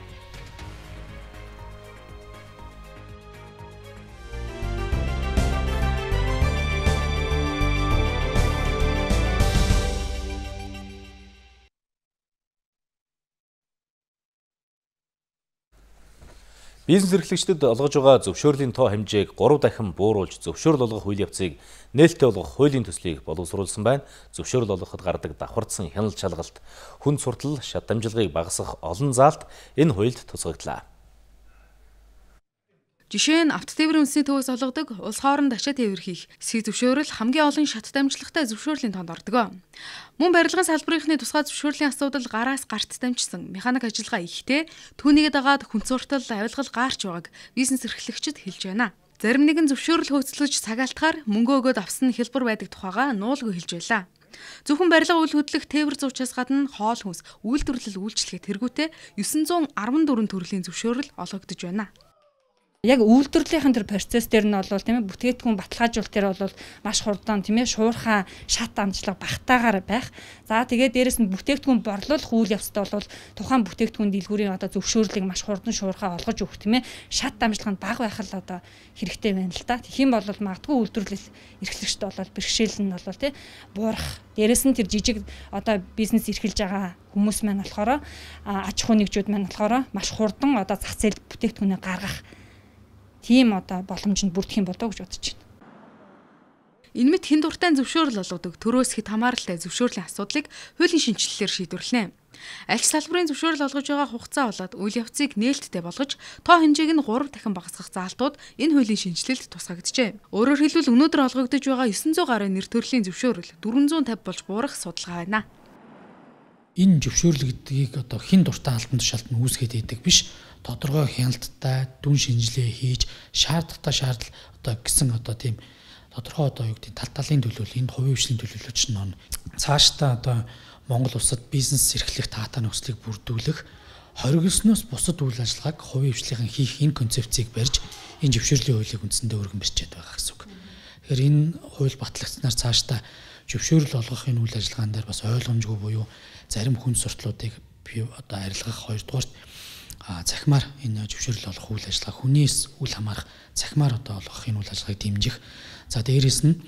Бизнес эрхлэгчдэд олгож байгаа зөвшөөрлийн тоо хэмжээг гурав дахин бууруулж зөвшөөрөл олгох үйл явцыг нээлттэй болгох хуулийн төслийг боловсруулсан байна. Зөвшөөрөл олгоход гардаг давхардсан хяналт шалгалт, хүнд суртал, шат дамжлагыг багасгах олон заалт энэ хуульд тусгагдлаа. Жишээ нь авто тээврийн үндэсний төвөөс олгодог улс хооронд ачаа тээвэр хийх эсхийг зөвшөөрөл хамгийн олон шат дамжлагтай зөвшөөрлийн тоонд ордог. Мөн барилгын салбарынхны тусгай зөвшөөрлийн асуудал гараас гарт дамжсан механик ажиллагаа ихтэй түүнийгээ дагаад хүнд суртал, авилгал гаарч байгааг бизнес эрхлэгчид хэлж байна. Зарим нэгэн зөвшөөрөл хөөцлөж цагаалтахаар мөнгө өгөөд авсан хэлбэр байдаг тухайга нуулгүй хэлж байлаа. Зөвхөн барилга үйл хөдлөх тээвэр зуучаас гадна хоол хүнс үйлдвэрлэл үйлчлэгээ тэргүүтээ девятьсот fourteen төрлийн зөвшөөрөл олгогдож байна. Яг үйлдвэрлэлийн тэр процесс дээр нь бол тийм ээ бүтээгдэхүүн баталгаажуулалт дээр бол маш хурдан тийм ээ шуурхай шат амжилга багтаагаар байх. За тэгээд дээрэс нь бүтээгдэхүүн борлуулах үйл явцад бол тухайн бүтээгдэхүүн дэлгүүрийн одоо зөвшөөрлийг маш хурдан шуурхай олгож өгөх тийм ээ шат амжилга нь бага байх л одоо хэрэгтэй байна л да. Тэгэх юм бол магадгүй үйлдвэрлэл эрхлэгчд бол бэрхшээл нь бол тийм буурах. Дээрэс нь тэр жижиг одоо бизнес эрхэлж байгаа хүмүүс маань болохоор аж ахуй нэгжүүд маань болохоор маш хурдан одоо зах зээлд бүтээгдэхүүнээ гаргах тийм одоо боломжинд бүрдэх юм болоо гэж бодож байна. Энэ мэт хэн дуртай зөвшөөрөл олгодог төрөөс хэд хамааралтай зөвшөөрлийн асуудлыг хуулийн шинжилэлээр шийдвэрлэнэ. Аль ч салбарын зөвшөөрөл олгож байгаа хугацаа болоод үйл явцыг нээлттэй болгож тоо хэмжээг нь гурав дахин багасгах заалтууд энэ хуулийн шинжилэлд тусгагджээ. Өөрөөр хэлбэл өнөөдөр олгогдож байгаа900 гаруй нэр төрлийн зөвшөөрөл дөрвөн зуун тавь болж буурах судалгаа байна. Энэ зөвшөөрөл гэдгийг одоо хэн дуртай албан тушаалд нь үүсгээд идэг биш, тодорхой хяналттай дүн шинжилгээ хийж шаардлагатай шаардл одоо гэсэн одоо тийм тодорхой одоо юу гэдэг тал талын төлөөлөл, энд хувийн хвшлийн төлөөлөл чинь нөө цаашдаа одоо Монгол улсад бизнес эрхлэх таатай нөхцөлийг бүрдүүлэх, хоригдсноос бусад үйл ажиллагааг хувийн хвшлийн хийх энэ концепцийг барьж энэ зөвшөөрлийн хуулийг үндсэндээ өргөн барьчаад байгаа гэсэн үг. Тэгэхээр энэ хууль батлагдсанаар цаашдаа зөвшөөрөл олгох энэ үйл ажиллагаан дээр бас ойлгомжгүй буюу зарим хүн суртлуудыг одоо арилгах, хоёрдугаарт цахимаар энэ зөвшөөрөл олох үйл ажиллагаа, хүнээс үл хамаарах цахимаар одоо олгох энэ үйл ажиллагааг дэмжих. За дээрээс нь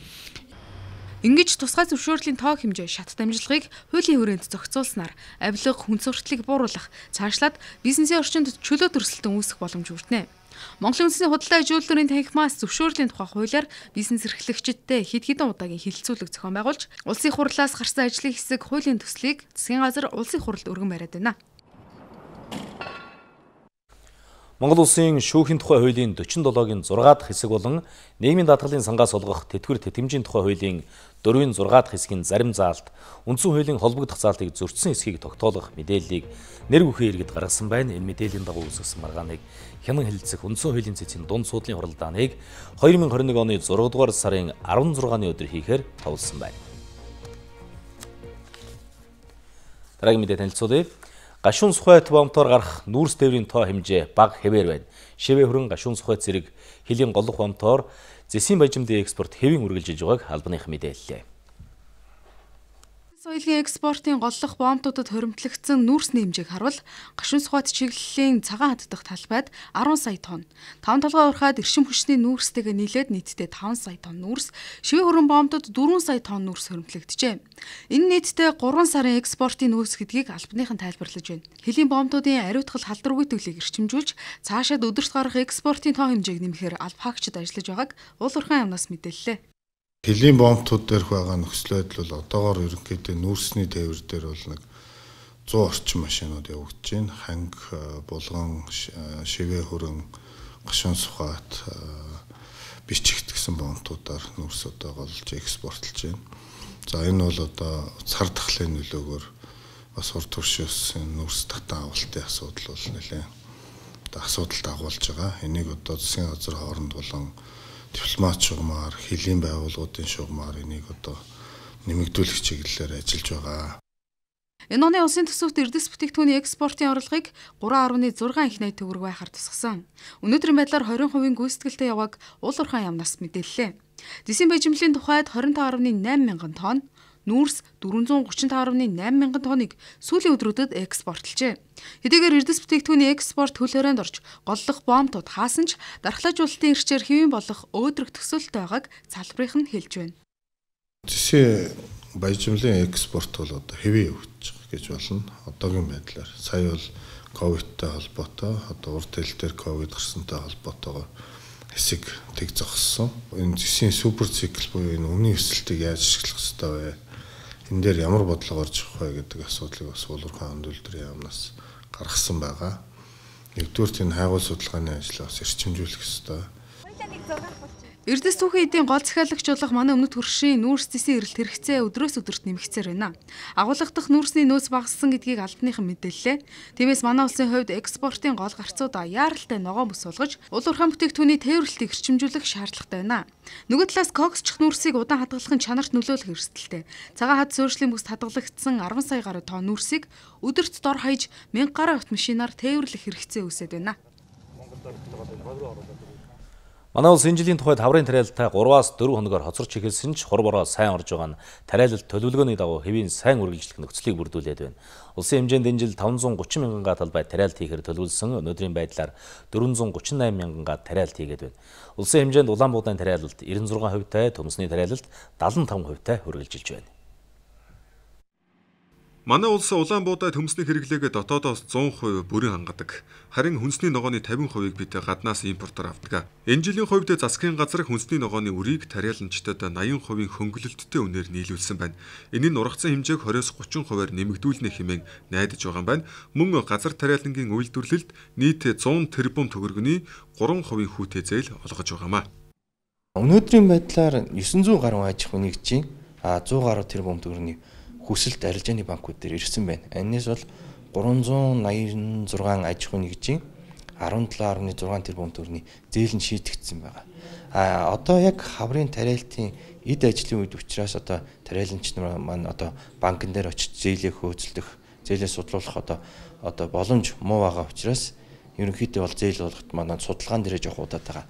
Ингэж тусгай зөвшөөрлийн тоо хэмжээ шат дамжлагыг хуулийн хүрээнд зохицуулснаар авилга, хүн сурталыг бууруулах, цаашлаад бизнесийн орчинд чөлөө төрсөлтөн үүсэх боломж бүрднэ. Монголын үндэсний худалдаа ажилууллын танхимаас зөвшөөрлийн тухай хуулиар бизнес эрхлэгчидтэй хэд хэдэн удаагийн хилцүүлэг зохион байгуулж, улсын хурлаас гарсан ажлын хэсэг хуулийн төслийг засгийн газар улсын хурлд өргөн бариад байна. Монгол улсын шүүхийн тухай хуулийн дөрвөн долоогийн зураг дахь хэсэг болон нийгмийн даатгалын сангаас олгох тэтгэвэр тэтгэмжийн тухай хуулийн дөрвөн зураг дахь хэсгийн зарим заалт, үндсэн хуулийн холбогдох заалтыг зөрчсөн эсхийг тогтоолох мэдээллийг нэр бүхэн иргэд гаргасан байна. Энэ мэдээллийн дагуу үүсгэсэн маргааныг хянан хэлэлцэх үндсэн хуулийн цэцгийн дунд суудлын хуралдааныг хоёр мың хорин нэг оны зураг дугаар сарын арван зургааны өдөр хийхээр товлсон байна. Дараагийн мэдээ танилцуулъя. Гашуун сухайт бомтоор гарах нүүрс тээврийн тоо хэмжээ бага хэвээр байна. Шивээ хүрэн гашуун сухайт зэрэг хилийн голлох бомтоор зэсийн баяжмдын экспорт хэвийн үргэлжилж байгааг албаных мэдээллээ. Соёлын экспортын голлох бомтуудад хоримтлагдсан нүүрсний хэмжээг харвал гашуун сухайт чиглэлийн цагаан хаддах талбайд арван сая тонн, таван толгой урхаад эршим хүчний нүүрстэйгээ нийлээд нийтдээ таван сая тонн нүүрс, шивээ хүрэн бомтод дөрвөн сая тонн нүүрс хоримтлагджээ. Энэ нийтдээ гурван сарын экспортын нөөц гэдгийг албаных нь тайлбарлаж байна. Хилийн бомтуудын ариутгал халдваргүй төлийг эрчимжүүлж, цаашаад өдөрт гарах экспортын тоо хэмжээг нэмэхээр алба хаагчид ажиллаж байгааг уул уурхайн яамнаас мэдээллээ. Хилийн бомтууд дээрх байгаа нөхцөл байдал бол одоогоор ерөнхийдөө нүүрсний тээвэр дээр бол нэг сто орчим машинууд явагдаж байна. Ханг, булган, шивээ хүрэн, гашуун сухайт, бичигт гэсэн бомтуудаар нүүрс одоо голж экспортлж байна. За энэ бол одоо цар тахлын нөлөөгөөр бас урд туршилсан нүүрс татан авалтын асуудал бол нэлээд одоо асуудалд агуулж байгаа. Энийг одоо засгийн газар хооронд болон дипломат шугамар, хилийн байгууллагуудын шугамар энийг одоо нэмэгдүүлэх чиглэлээр ажиллаж байгаа. Энэ оны улсын төсөвт эрдэс бүтээгдэхүүний экспортын орлогыг гурван арван зургаан их найт төгрөг байхаар тусгасан. Өнөөдрийн байдлаар двадцать хувийн гүйцэтгэлтэй явааг уул уурхайн яамнаас мэдээллээ. Зэсийн баяжмлын тухайд двадцать пять гаруй найман мянган тонн, нүүрс дөрвөн зуун гуравч тавь гаруй найман мянган тонныг сүүлийн өдрүүдэд экспортлжээ. Хэдийгээр эрдэс бүтээгдэхүүний экспорт хөл хорионд орж голлох бомтууд хаасан ч дархлаажуулалтын эрчээр хэвийн болох өөдрөг төсөөлттэй байгааг залбирынх нь хэлж байна. Зэсийн баяжмлын экспорт бол одоо хэвээ явагдаж байгаа гэж болно. Одоогийн байдлаар сая бол ковидтай холбоотой, одоо урд хил дээр ковид гарсантай холбоотойгоор хэсэг тэг зогссон. Энэ зэсийн супер цикл буюу энэ өмнө өсөлтийг яаж ашиглах ёстой вэ? Энэ дээр ямар бодлого орж ирэх вэ гэдэг асуудлыг бас уулуурхайн өндөлдрийн яамнаас гаргасан байгаа. Нэгдүгээр энэ хайгуул судалгааны ажлыг бас эрчимжүүлэх ёстой. Эрдэс түүхийн эдийн гол захиалагч болох манай өмнөд хөршийн нүүрс зэсийн эрэлт хэрэгцээ өдрөөс өдөрт нэмэгцээр байна. Агуулгах дахь нүүрсний нөөц багассан гэдгийг албаныхан мэдээллээ. Тиймээс манай улсын хувьд экспортын гол гарцуудаа яаралтай ногоон бүс болгож уул уурхайн бүтээгдэхүүний тээвэрлэлтийг эрчимжүүлэх шаардлагатай байна. Нөгөө талаас коксчих нүүрсийг удаан хадгалахын чанарт нөлөөлөх эрсдэлтэй. Цагаан хад суурьшлийн бүст хадгалагдсан арван сая гаруй тонн нүүрсийг өдөрт дор хаяж мянга гаруй автомашинаар тээвэрлэх хэрэгцээ үүсэт байна. Манай улс энэ жилийн тухайд хаврын тариалалтаа гураваас дөрвөн хоногоор хоцорч эхэлсэн ч хур бороо сайн орж байгаа нь тариалалт төлөвлөгөөний дагуу хэвийн сайн үргэлжлэх нөхцөлийг бүрдүүлээд байна. Улсын хэмжээнд энэ жил таван зуун гучин мянган га талбайд тариалт хийхээр төлөвлөсөн, өнөөдрийн байдлаар дөрвөн зуун гучин найман мянган га тариалт хийгээд байна. Улсын хэмжээнд улаан буудайн тариалалт девяносто шесть хувьтай, төмсний тариалалт седьмдесят пять хувьтай үргэлжилж байна. Манай улс улаан буудаа төмсний хэрэглээг дотоодоос зуун хувь бүрэн хангадаг. Харин хүнсний ногооны тавин хувийг бид гаднаас импортоор авдаг. Энэ жилийн хувьд засгийн газар хүнсний ногооны үрийг тариаланчдад наян хувийн хөнгөлөлттэй үнээр нийлүүлсэн байна. Энэ нь ургацсан хэмжээг двадцать тридцать хувиар нэмэгдүүлнэ хэмээн найдаж байгаа юм байна. Мөн газар тариалангийн үйлдвэрлэлд нийт сто тэрбум төгрөгийн три хувийн хүүтэй зээл олгож байгаамаа. Өнөөдрийн байдлаар девятьсот гаруй аж ахуй нэгжийн сто гаруй тэрбум төгрөгийн хүсэлт арилжааны банкуд дээр ирсэн байна. Энэс бол три восемьдесят шесть аж ахуй нэгжийн sevenseven point six тэрбум төгрөгийн зээл нь шийдэгдсэн байгаа. А одоо яг хаврын тариалтын эд ажлын үед учраас одоо тариаламч нар маань одоо банкн дээр очиж зээлээ хөөцөлдөх, зээлээ судлуулах одоо одоо боломж муу байгаа учраас ерөнхийдөө бол зээл болгоход манай судалгаан дээрээ жоох удаад байгаа.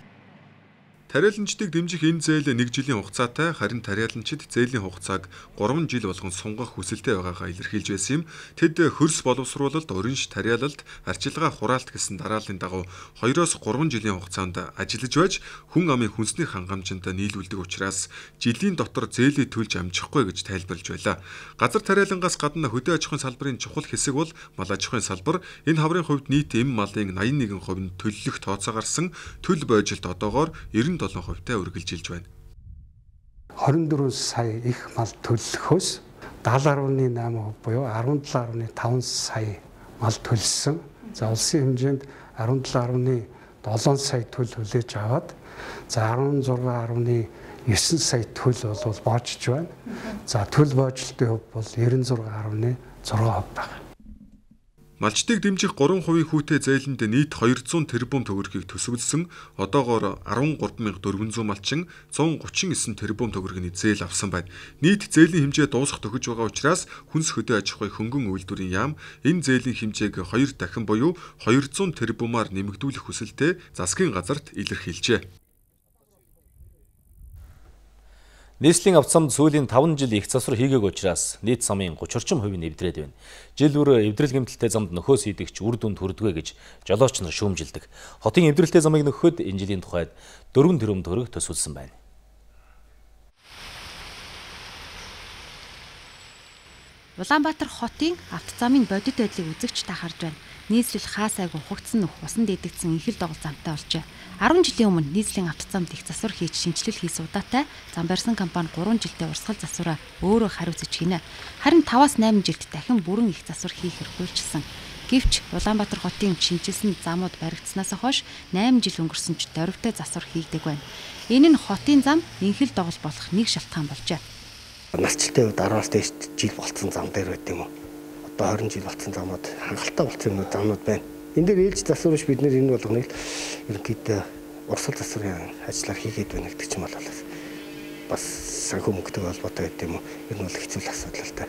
Тариаланчдыг дэмжих энэ зээл нэг жилийн хугацаатай, харин тариаланчид зээлийн хугацааг три жил болгон сунгах хүсэлтэй байгаагаа илэрхийлж байсан юм. Тэд хөрс боловсруулалт, уринш тариалалт, арчилгаа хураалт гэсэн дарааллын дагуу двоёроос гурван жилийн хугацаанд ажиллаж байж хүн амын хүнсний хангамжинд нийлүүлдэг учраас жилийн дотор зээлээ төлж амжихгүй гэж тайлбарлаж байлаа. Газар тариалангаас гадна хөдөө аж ахуйн салбарын чухал хэсэг бол мал аж ахуйн салбар. Энэ хаврын хувьд нийт эм малын eighty-one percent нь төлөлөх тооцоо гарсан. Төл бойжилт одоогоор ninety-seven хувьтай үргэлжилж байна. twenty-four сая их мал төлөлөхөөс seventy point eight percent буюу seventy-seven point five сая мал төлсөн. За улсын хэмжээнд seventy-seven point seven сая төл хүлээж аваад за sixteen point nine сая төл бол боожж байна. За төл боожлтын хувь бол ninety-six point six percent байна. Малчдыг дэмжих three хувийн хүүтэй зээлэнд нийт two hundred тэрбум төгрөгийг төсөвлөсөн. Одоогоор thirty-three thousand four hundred малчин one hundred thirty-nine тэрбум төгрөгийн зээл авсан байна. Нийт зээлийн хэмжээ дуусах төгөж байгаа учраас хүнс хөдөө аж ахуй хөнгөн үйлдвэрийн яам энэ зээлийн хэмжээг two дахин буюу two hundred тэрбумаар нэмэгдүүлэх хүсэлтэй засгийн газарт илэрхийлжээ. Нийслэлийн авцамд сүүлийн five жил их засвар хийгээг учраас нийт замын thirty орчим хувь нь эвдрээд байна. Жил бүр эвдрэл гэмтэлтэй замд нөхөөс идэгч үр дүнд хүрдгвэ гэж жолооч нар шүүмжилдэг. Хотын эвдрэлтэй замыг нөхөхөд энэ жилийн тухайд four тэрбум төгрөг төсвөлсөн байна. Улаанбаатар хотын автозамын бодит байдлыг үзэгч та харж байна. Нийслэл хаас айгу хугацсан нөх усан дээдэгдсэн инхэл догол замтай болжээ. ten жилийн өмнө нийслэлийн автозамд их засвар хийж шинжилэл хийсэн удаатай зам барьсан компани three жилдээ урсгал засвараа өөрөө хариуцж хийнэ. Харин five-аас eight жилд дахин бүрэн их засвар хийх эрхүүлжсэн. Гэвч Улаанбаатар хотын шинжилсэн замууд баригдсанаас хойш eight жил өнгөрсөн ч дөрвтэй засвар хийгдэг байна. Энэ нь хотын зам инхэл догол болох нэг шалтгаан болжээ. Насжилтын үед ten-аас дээш жил болцсон зам дээр байт юм уу? Одоо twenty жил болцсон замууд хангалттай болцсон юм замууд байна. Энд дээр ээлж засварч бид нэр энэ болгоныг ерөнхийдөө урсгал засварын ажлаар хийгээд байна гэдэг ч юм бол бас санхүү мөнгөтэй холбоотой гэдэг юм уу? Энэ бол хэцүү асуудал л та.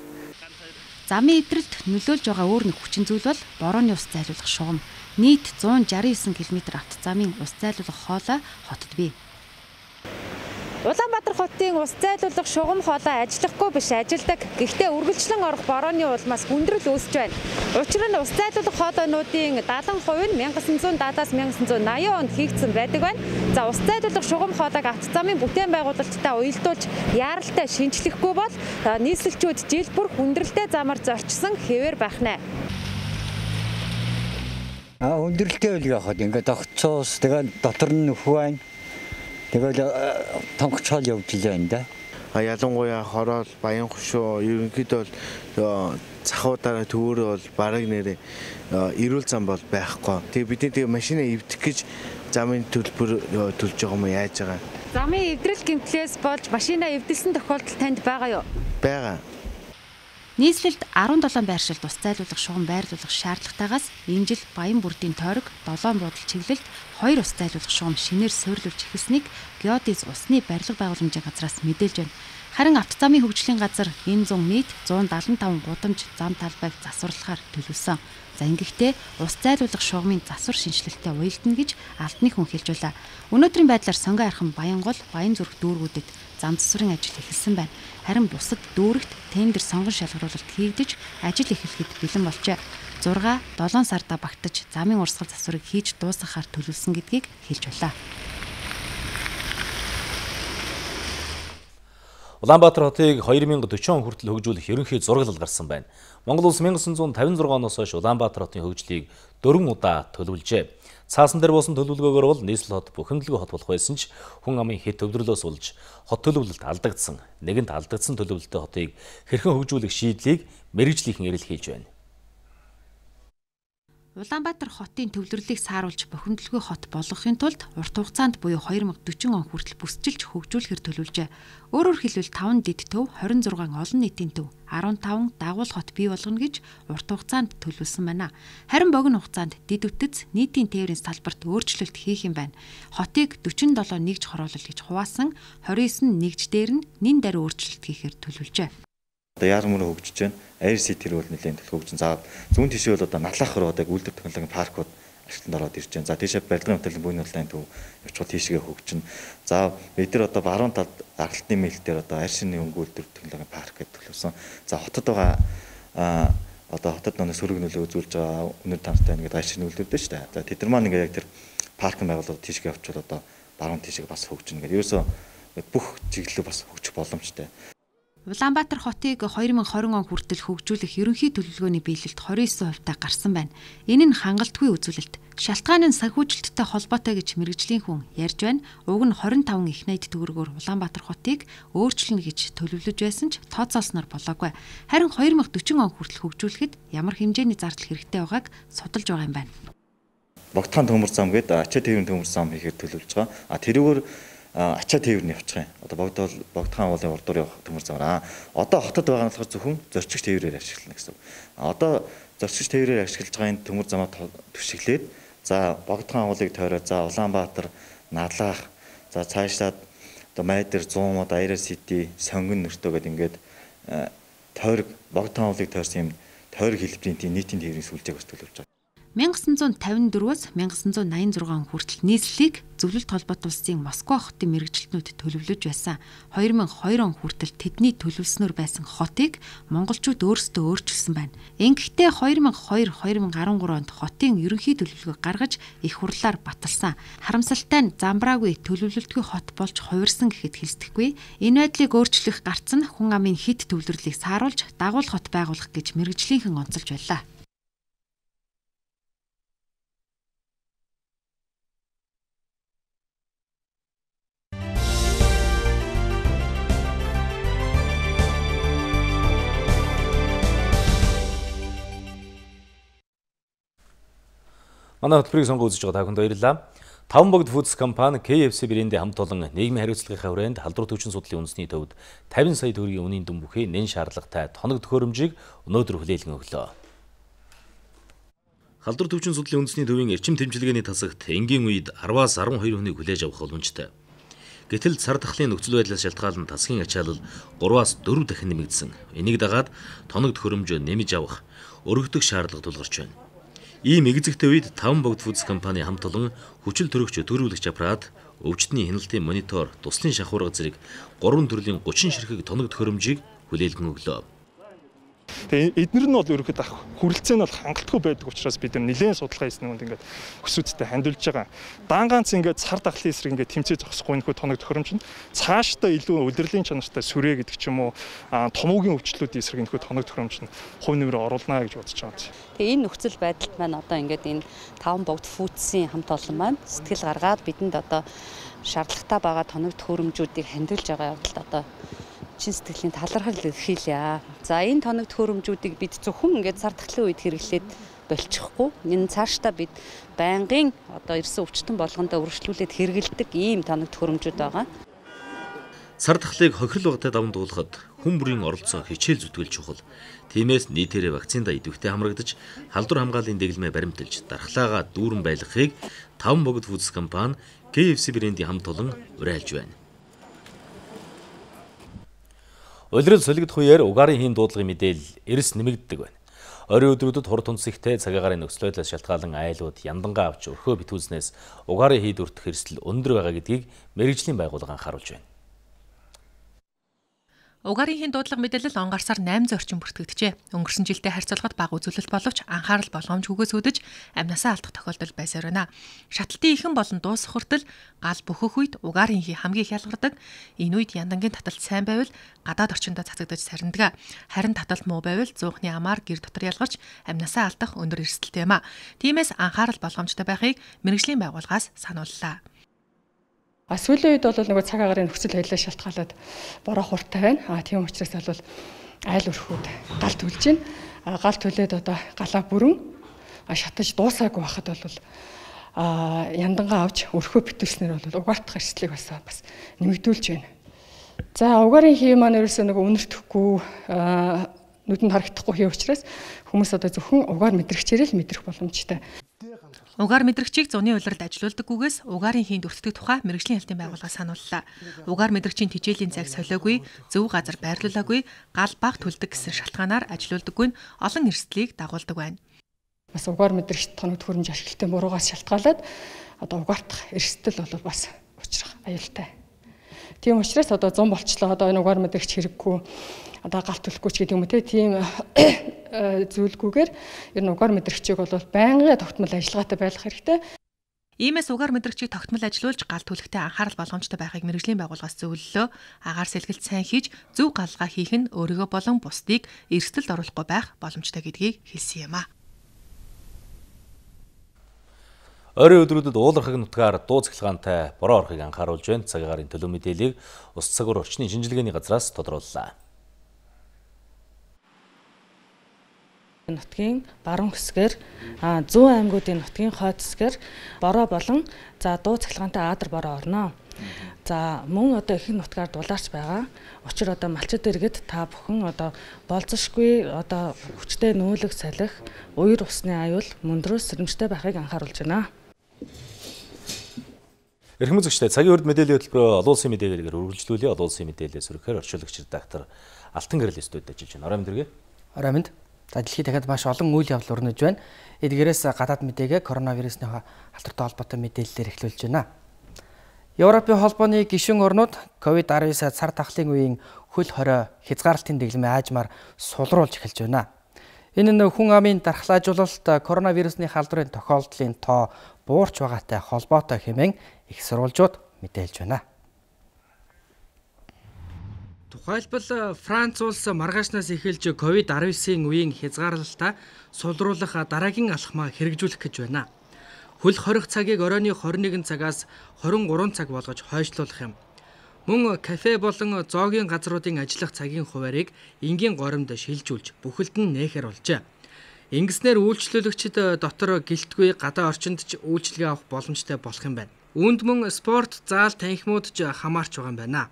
Замын эвдрэлд нөлөөлж байгаа өөр нэг хүчин зүйл бол борооны ус зайлуулах шугам. Нийт one sixty-nine км автозамын ус зайлуулах хоолой хотод бий. Улаанбаатар хотын ус зайлуулах шугам хоолой ажиллахгүй биш ажилдаг. Гэхдээ үргэлжлэн орох борооны улмаас хүндрэл үүсэж байна. Учир нь ус зайлуулах хоолойнуудын seventy percent нь nineteen seventy-аас nineteen eighty онд хийгдсэн байдаг байна. За ус зайлуулах шугам хоолойг автозамын бүтээн байгуулалттай уялдуулж яаралтай шинжлэхгүй бол нийслэлчүүд жил бүр хүндрэлтэй замаар зорчсон хэвээр байх нэ. А хүндрэлтэй үл яхад ингээд огцоос тэгээд дотор нь нөхөө байна. Тэгэл тонгочол явж илээ энэ. А ялангуяа хорол, баян хушуу ерөнхийдөө бол цахуудаараа төвөөрөө бол бараг нэрээ эрүүл зам бол байхгүй. Тэгээ бид тэгээ машинаа эвдэх гэж замын төлбөр төлж байгаа юм яаж байгаа. Замын эвдрэл гэмтлээс болж машинаа эвдэлсэн тохиолдол танд байгаа юу? Бага. Нийслэлд seventeen байршилд ус зайлуулах шугам байрлуулах шаардлагатайгаас энэ жил Баян бүрдийн тойрог seven буудал чиглэлд two ус зайлуулах шугам шинээр суйрлуулж эхэлснийг Геодез усны барилга байгууламжийн газраас мэдээлж байна. Харин автозамын хөгжлийн газар энэ зун нийт one seventy-five гудамж зам талбайг засварлахаар төлөвлөсөн. За ингэхдээ ус зайлуулах шугамын засвар шинжилэлтэд уялдана гэж албаны хүн хэлж байлаа. Өнөөдрийн байдлаар Сонгон архан Баянгол, Баян зүрх дүүргүүдэд зам засварын ажил эхэлсэн байна. Харин бусад дүүрэгт тендер сонгон шалгаруулалт хийгдэж ажил эхлэхэд бэлэн болжээ. six seven сарда багтаж замын урсгал засварыг хийж дуусгахаар төлөвлөсөн гэдгийг хэлж байлаа. Улаанбаатар хотыг две тысячи forty он хүртэл хөгжүүлэх ерөнхий зураглал гарсан байна. Монгол улс nineteen fifty-six оноос хойш Улаанбаатар хотын хөгжлийг дөрвөн удаа төлөвлөжээ. Цаасан дээр буусан төлөвлөгөөгөр бол нийслэл хот бухимдалгүй хот болох байсан ч хүн амын хэд төвлөрлөөс болж хот төлөвлөлт алдагдсан. Нэгэнт алдагдсан төлөвлөлтөд хотыг хэрхэн хөгжүүлэх шийдлийг мэргэжлийнхэн эрэлхийлж байна. Улаанбаатар хотын төвлөрлөлийг сааруулж бухимдалгүй хот болгохын тулд урт хугацаанд буюу две thousand forty он хүртэл бүсчилж хөгжүүлэхээр төлөвлөжээ. Өөрөөр хэлбэл five дэд төв, twenty-six олон нийтийн төв, fifteen дагуул хот бий болгоно гэж урт хугацаанд төлөвлөсөн байна. Харин богино хугацаанд дэд үтц нийтийн тээврийн салбарт өөрчлөлт хийх юм байна. Хотыг forty-seven нэгж хороолол гэж хуваасан, twenty-nine нэгж дээр нь нин даруй өөрчлөлт хийхээр төлөвлөжээ. Одоо яармөр хөгжиж байна. Air City рүү нэлээд хөгжин. За зүүн тишээ бол одоо Налахар одоо үйлдвэр технологийн паркууд ашиглалтанд ороод ирж байна. За тийшээ барилгын хөтөлбөрийн буйны улаан төв явчихвал тийшээ хөгжин. За бид нар одоо баруун талд аргалтын мэлтээр одоо Аршины өнгө үйлдвэр технологийн парк гэдэг төлөвсөн. За хотод байгаа а одоо хотод нэг сөрөг нөлөө үзүүлж байгаа өнөр тантай нэг Аршины үйлдвэрдээ шүү дээ. За тэд нар маань ингээ яг тэр паркын байгууллага тийшээ явчихвал одоо баруун тишээ бас хөгжин гэдэг. Ерөөсөө бүх чиглэлөө бас хөгжих боломжтой. Улаанбаатар хотыг twenty twenty он хүртэл хөгжүүлэх ерөнхий төлөвлөгөөний биелэлд twenty-nine хувьтай гарсан байна. Энэ нь хангалтгүй үзүүлэлт. Шалтгаан нь санхүүжилттэй холбоотой гэж мэргэжлийн хүн ярьж байна. Уг нь twenty-five их найд төгрөгөөр Улаанбаатар хотыг өөрчлөнө гэж төлөвлөж байсан ч тооцоолсноор болоогүй. Харин twenty forty он хүртэл хөгжүүлэхэд ямар хэмжээний зардал хэрэгтэй байгааг судалж байгаа юм байна. Богдхан төмөр зам гэдэг ачаа тээврийн төмөр зам хийхээр төлөвлөж байгаа. А тэрүүгээр ачаа тээврийн явчих юм. Одоо богдол богдхан уулын урдуур явах төмөр замаар. Одоо хотод байгаа нь болохоор зөвхөн зорчигч тээврээр ашиглана гэсэн. Одоо зорчигч тээврээр ашиглаж байгаа энэ төмөр замаа төшөглээд за богдхан уулыг тойроод за Улаанбаатар, Налах, за цаашдаа одоо Майдэр, Зуумод, Air City, Сонгон нөртөө гэдэг ингээд тойрог богдхан уулыг тойрсон юм тойрог хэлбэрийн тийм нийтийн тээврийн сүлжээг бас төлөвлөж байгаа. nineteen fifty-four-аас nineteen ninety-six он хүртэл нийслэлийг зөвлөлт холбоот улсын Москва хотын мэргэжилтнүүд төлөвлөж байсан. two thousand two он хүртэл тэдний төлөвлөснөр байсан хотыг монголчууд өөрсдөө өөрчилсөн байна. Ингэхдээ two thousand two - two thousand thirteen онд хотын ерөнхий төлөвлөгөө гаргаж их хурлаар баталсан. Харамсалтай нь замбраагүй төлөвлөлтгүй хот болж хувирсан гэхэд хэлцэхгүй. Энэ байдлыг өөрчлөх гарц нь хүн амын хэд төвлөрлийг сааруулж дагуул хот байгуулах гэж мэргэжлийнхэн онцолж байлаа. Манай хөтөлбөрийг сонгон үзэж байгаа та бүхэнд баярлалаа. Таван богд Foods компани кей эф си брэндийн хамт олон нийгмийн хариуцлагын хүрээнд халдвар төвчин судлалын үндэсний төвд fifty сая төгрөгийн үнийн дүн бүхий нэн шаардлагатай тоног төхөөрөмжийг өнөөдөр хүлээлгэн өглөө. Халдвар төвчин судлалын үндэсний төвийн эрчим тэмчилгээний тасагт энгийн үед ten-аас twelve хүнийг хүлээж авах боломжтой. Гэтэл цар тахлын нөхцөл байдлаас шалтгаалan тасгийн ачаалал three-аас four дахин нэмэгдсэн. Энийг дагаад тоног төхөөрөмжөө нэмж авах өргөдөх шаардлага тулгарч байна. Ийм эгзэгтэй үед таван богд Foods компани хамт олон хүчил төрөгч төрүүлэгч аппарат, өвчтний хяналтын монитор, туслын шахуурга зэрэг гурван төрлийн thirty ширхэг тоног төхөөрөмжийг хүлээлгэн өглөө. Тэгээ эднэр нь бол ерөөхдөө хүрэлцээ нь бол хангалтгүй байдаг учраас бид нар нэлээд судалгаа хийсэн үнд ингээд өсвөдтэй хандулж байгаа. Даан ганц ингээд цар тахлын эсрэг ингээд тэмцээ зогсохгүй нөхөө тоног төхөөрөмж нь цаашдаа илүү удирдлагын чанартай сүрээ гэдэг ч юм уу томоогийн өвчлөлүүдийн эсрэг нөхөө тоног төхөөрөмж нь хувь нэмрээ оруулна гэж бодож байгаа. Тэгээ энэ нөхцөл байдалд маань одоо ингээд энэ таван богд Foods-ийн хамт олон маань сэтгэл гаргаад бидэнд одоо шаардлагатай байгаа тоног төхөөрөмжүүдийг хандилж байгаа явдалд одоо чин сэтгэлийн талархал илэрхийлье. За энэ тоног төхөөрөмжүүдийг бид зөвхөн ингээд цар тахлын үед хэрэглээд болчихгүй. Энэ цаашдаа бид байнгын одоо ирсэн өвчтөн болгондоо үргэлжлүүлээд хэрэгэлдэг ийм тоног төхөөрөмжүүд байгаа. Цар тахлыг хохирол багтаа даван дуулахад хүн бүрийн оролцоо хичээл зүтгэл чухал. Тиймээс нийтээрээ вакцинда идэвхтэй хамрагдаж, халдвар хамгааллын дэглэмээ баримталж, дархлаагаа дүүрэн байлгахыг таван богд Foods компани кей эф си брэндийн хамт олон уриалж байна. Улирал солигдох үеэр угаарын хийн дуудлагын мэдээлэл эрс нэмэгддэг байна. Оройн өдрүүдэд хур тунц ихтэй цагийн гарын нөхцөл байдлаас шалтгаалan айлууд яндангаа авч өрхөө битүүснээс угаарын хийд өртөх эрсдэл өндөр байгаа гэдгийг мэргэжлийн байгууллага анхааруулж байна. Угаарын хийн дуудлага мэдээлэл он гарсаар найман орчим бүртгэгдэжээ. Өнгөрсөн жилдээ харьцуулахад бага үзүүлэлт боловч анхаарал болгоомжгүйгээс үүдэж амнасаа алдах тохиолдол байсаар байна. Шатлалтын ихэн болон дуусах хүртэл гал бөхөх үед угаарын хий хамгийн их ялгардаг. Энэ үед яндангийн таталт сайн байвал гадаад орчиндөө цацагдаж сарндаг. Харин таталт муу байвал зуухны амаар гэр дотор ялгарч амнасаа алдах өндөр эрсдэлтэй юм а. Тиймээс анхаарал болгоомжтой байхыг мэргэжлийн байгууллагаас санууллаа. А сүүлийн үед бол нөгөө цаг агарын нөхцөл байдлаа шалтгаалаад бороо хурдтай байна. А тийм учраас бол айл өрхүүд гал төлж байна. А гал төлөөд одоо галаа бүрэн шатаж дуусаагүй байхад бол а яндангаа авч өрхөө битүүлснээр бол угаартах эрсдлийг бас бас нэмэгдүүлж байна. За угаарын хий маань ерөөсөө нөгөө үнэртэхгүй нүдэнд харагдахгүй хий учраас хүмүүс одоо зөвхөн угаар мэдрэгчээр л мэдрэх боломжтой. Угаар мэдрэгчийг зуны улиралд ажилуулдаггүйгээс угаарын хийнд өртдөг тухай мэргэжлийн хэлтийн байгууллага санууллаа. Угаар мэдрэгчийн тижээлийн цаг солиогүй, зөв газар байрлуулаагүй, гал баг төлдөг гэсэн шалтгаанаар ажилуулдаггүй нь олон эрсдлийг дагуулдаг байна. Бас угаар мэдрэгч тоног төхөөрөмж ашиглалтын буруугаас шалтгаалаад одоо угаартах эрсдэл бол бас учрах аюултай. Тийм учраас одоо зам болчлоо одоо энэ угаар мэдрэгч хэрэггүй одоо галт төлөхгүй ч гэдэг юм уу тийм зүйлгүйгээр ер нь угаар мэдрэгчийг бол байнгын тогтмол ажиллагаатай байх хэрэгтэй. Иймээс угаар мэдрэгчийг тогтмол ажилуулж гал төлөхтэй анхаарал болгоомжтой байхыг мэргэжлийн байгууллагаас зөвлөлөө. Агаар сэлгэлт сайн хийж зөв галгаа хийх нь өөрийгөө болон бусдыг эрсдэлд оруулахгүй байх боломжтой гэдгийг хэлсэн юм а. Ойрын өдрүүдэд уулархаг нутгаар дуу цахилгаантай бороо орохыг анхааруулж байна. Цаг агарын төлөв мэдээллийг Ус цагуур орчны шинжилгээний газраас тодрууллаа. Нутгийн баруун хэсгээр зүүн аймагуудын нутгийн хойд хэсгээр бороо болон за дуу цахилгаантай аадар бороо орно. За мөн одоо ихэнх нутгаар дулаарч байгаа. Учир одоо малчид иргэд та бүхэн одоо болзошгүй одоо хүчтэй нүүлэг салхи, уяр усны аюул мөндрөөс сэрэмжтэй байхыг анхааруулж байна. Эрхэм үзэгчдээ цагийн урд мэдээллийн хөтөлбөрөөр олон улсын мэдээлэлээр үргэлжлүүлээ. Олон улсын мэдээлэлээс өргөхөөр орчуулагч редактор Алтан Гэрэл студид ажиллаж байна. Орой мэндэргээ. Орой мэнд. За дэлхийд дахиад маш олон үйл явдал өрнөж байна. Эдгээрээс гадаад мэдээгээ коронавирусны халдвартай холбоотой мэдээллээр эхлүүлж байна. Европын холбооны гишүүн орнууд ковид арван девять цар тахлын үеийн хөл хорой хязгаарлалтын дэглэмээ аажмаар сулруулж эхэлж байна. Энэ нь хүн амын дархлаажуулалт коронавирусны халдварын тохиолдлын тоо буурч байгаатай холбоотой хэмээн их сурвалжууд мэдээлж байна. Тухайлбал Франц улс маргаашнаас эхэлж ковид арван девятийн үеийн хязгаарлалтаа сулруулах дараагийн алхмаа хэрэгжүүлэх гэж байна. Хөл хорих цагийг оройны двадцать один цагаас двадцать три цаг болгож хойшлуулах юм. Мөн кафе болон зоогийн газруудын ажиллах цагийн хуваарийг энгийн горимд шилжүүлж бүхэлд нь нээхэр болжээ. Ингэснээр үйлчлүүлэгчид дотор гэлтгүй гадаа орчинд ч үйлчлэгээ авах боломжтой болох юм байна. Үүнд мөн спорт, заал, танхимууд ч хамаарч байгаа юм байна.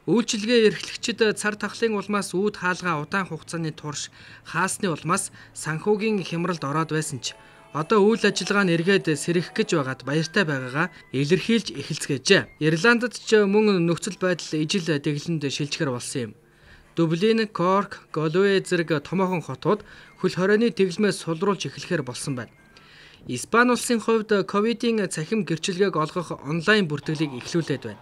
Үйлчлэгээ эрхлэгчид цар тахлын улмаас үүд хаалгаа удаан хугацааны турш хаасны улмаас санхүүгийн хямралд ороод байсан ч одоо үйл ажиллагаа нь эргээд сэрэх гэж байгаад баяртай байгаагаа илэрхийлж эхэлцгээжээ. Ирландд ч мөн нөхцөл байдал ижил дэглэнд шилжихэр болсон юм. Дублин, Корк, Галвей зэрэг томоохон хотууд хөл хорионы дэглэмээ сулруулж эхлэхээр болсон байна. Испани улсын хувьд ковидын цахим гэрчилгээг олгох онлайн бүртгэлийг эхлүүлээд байна.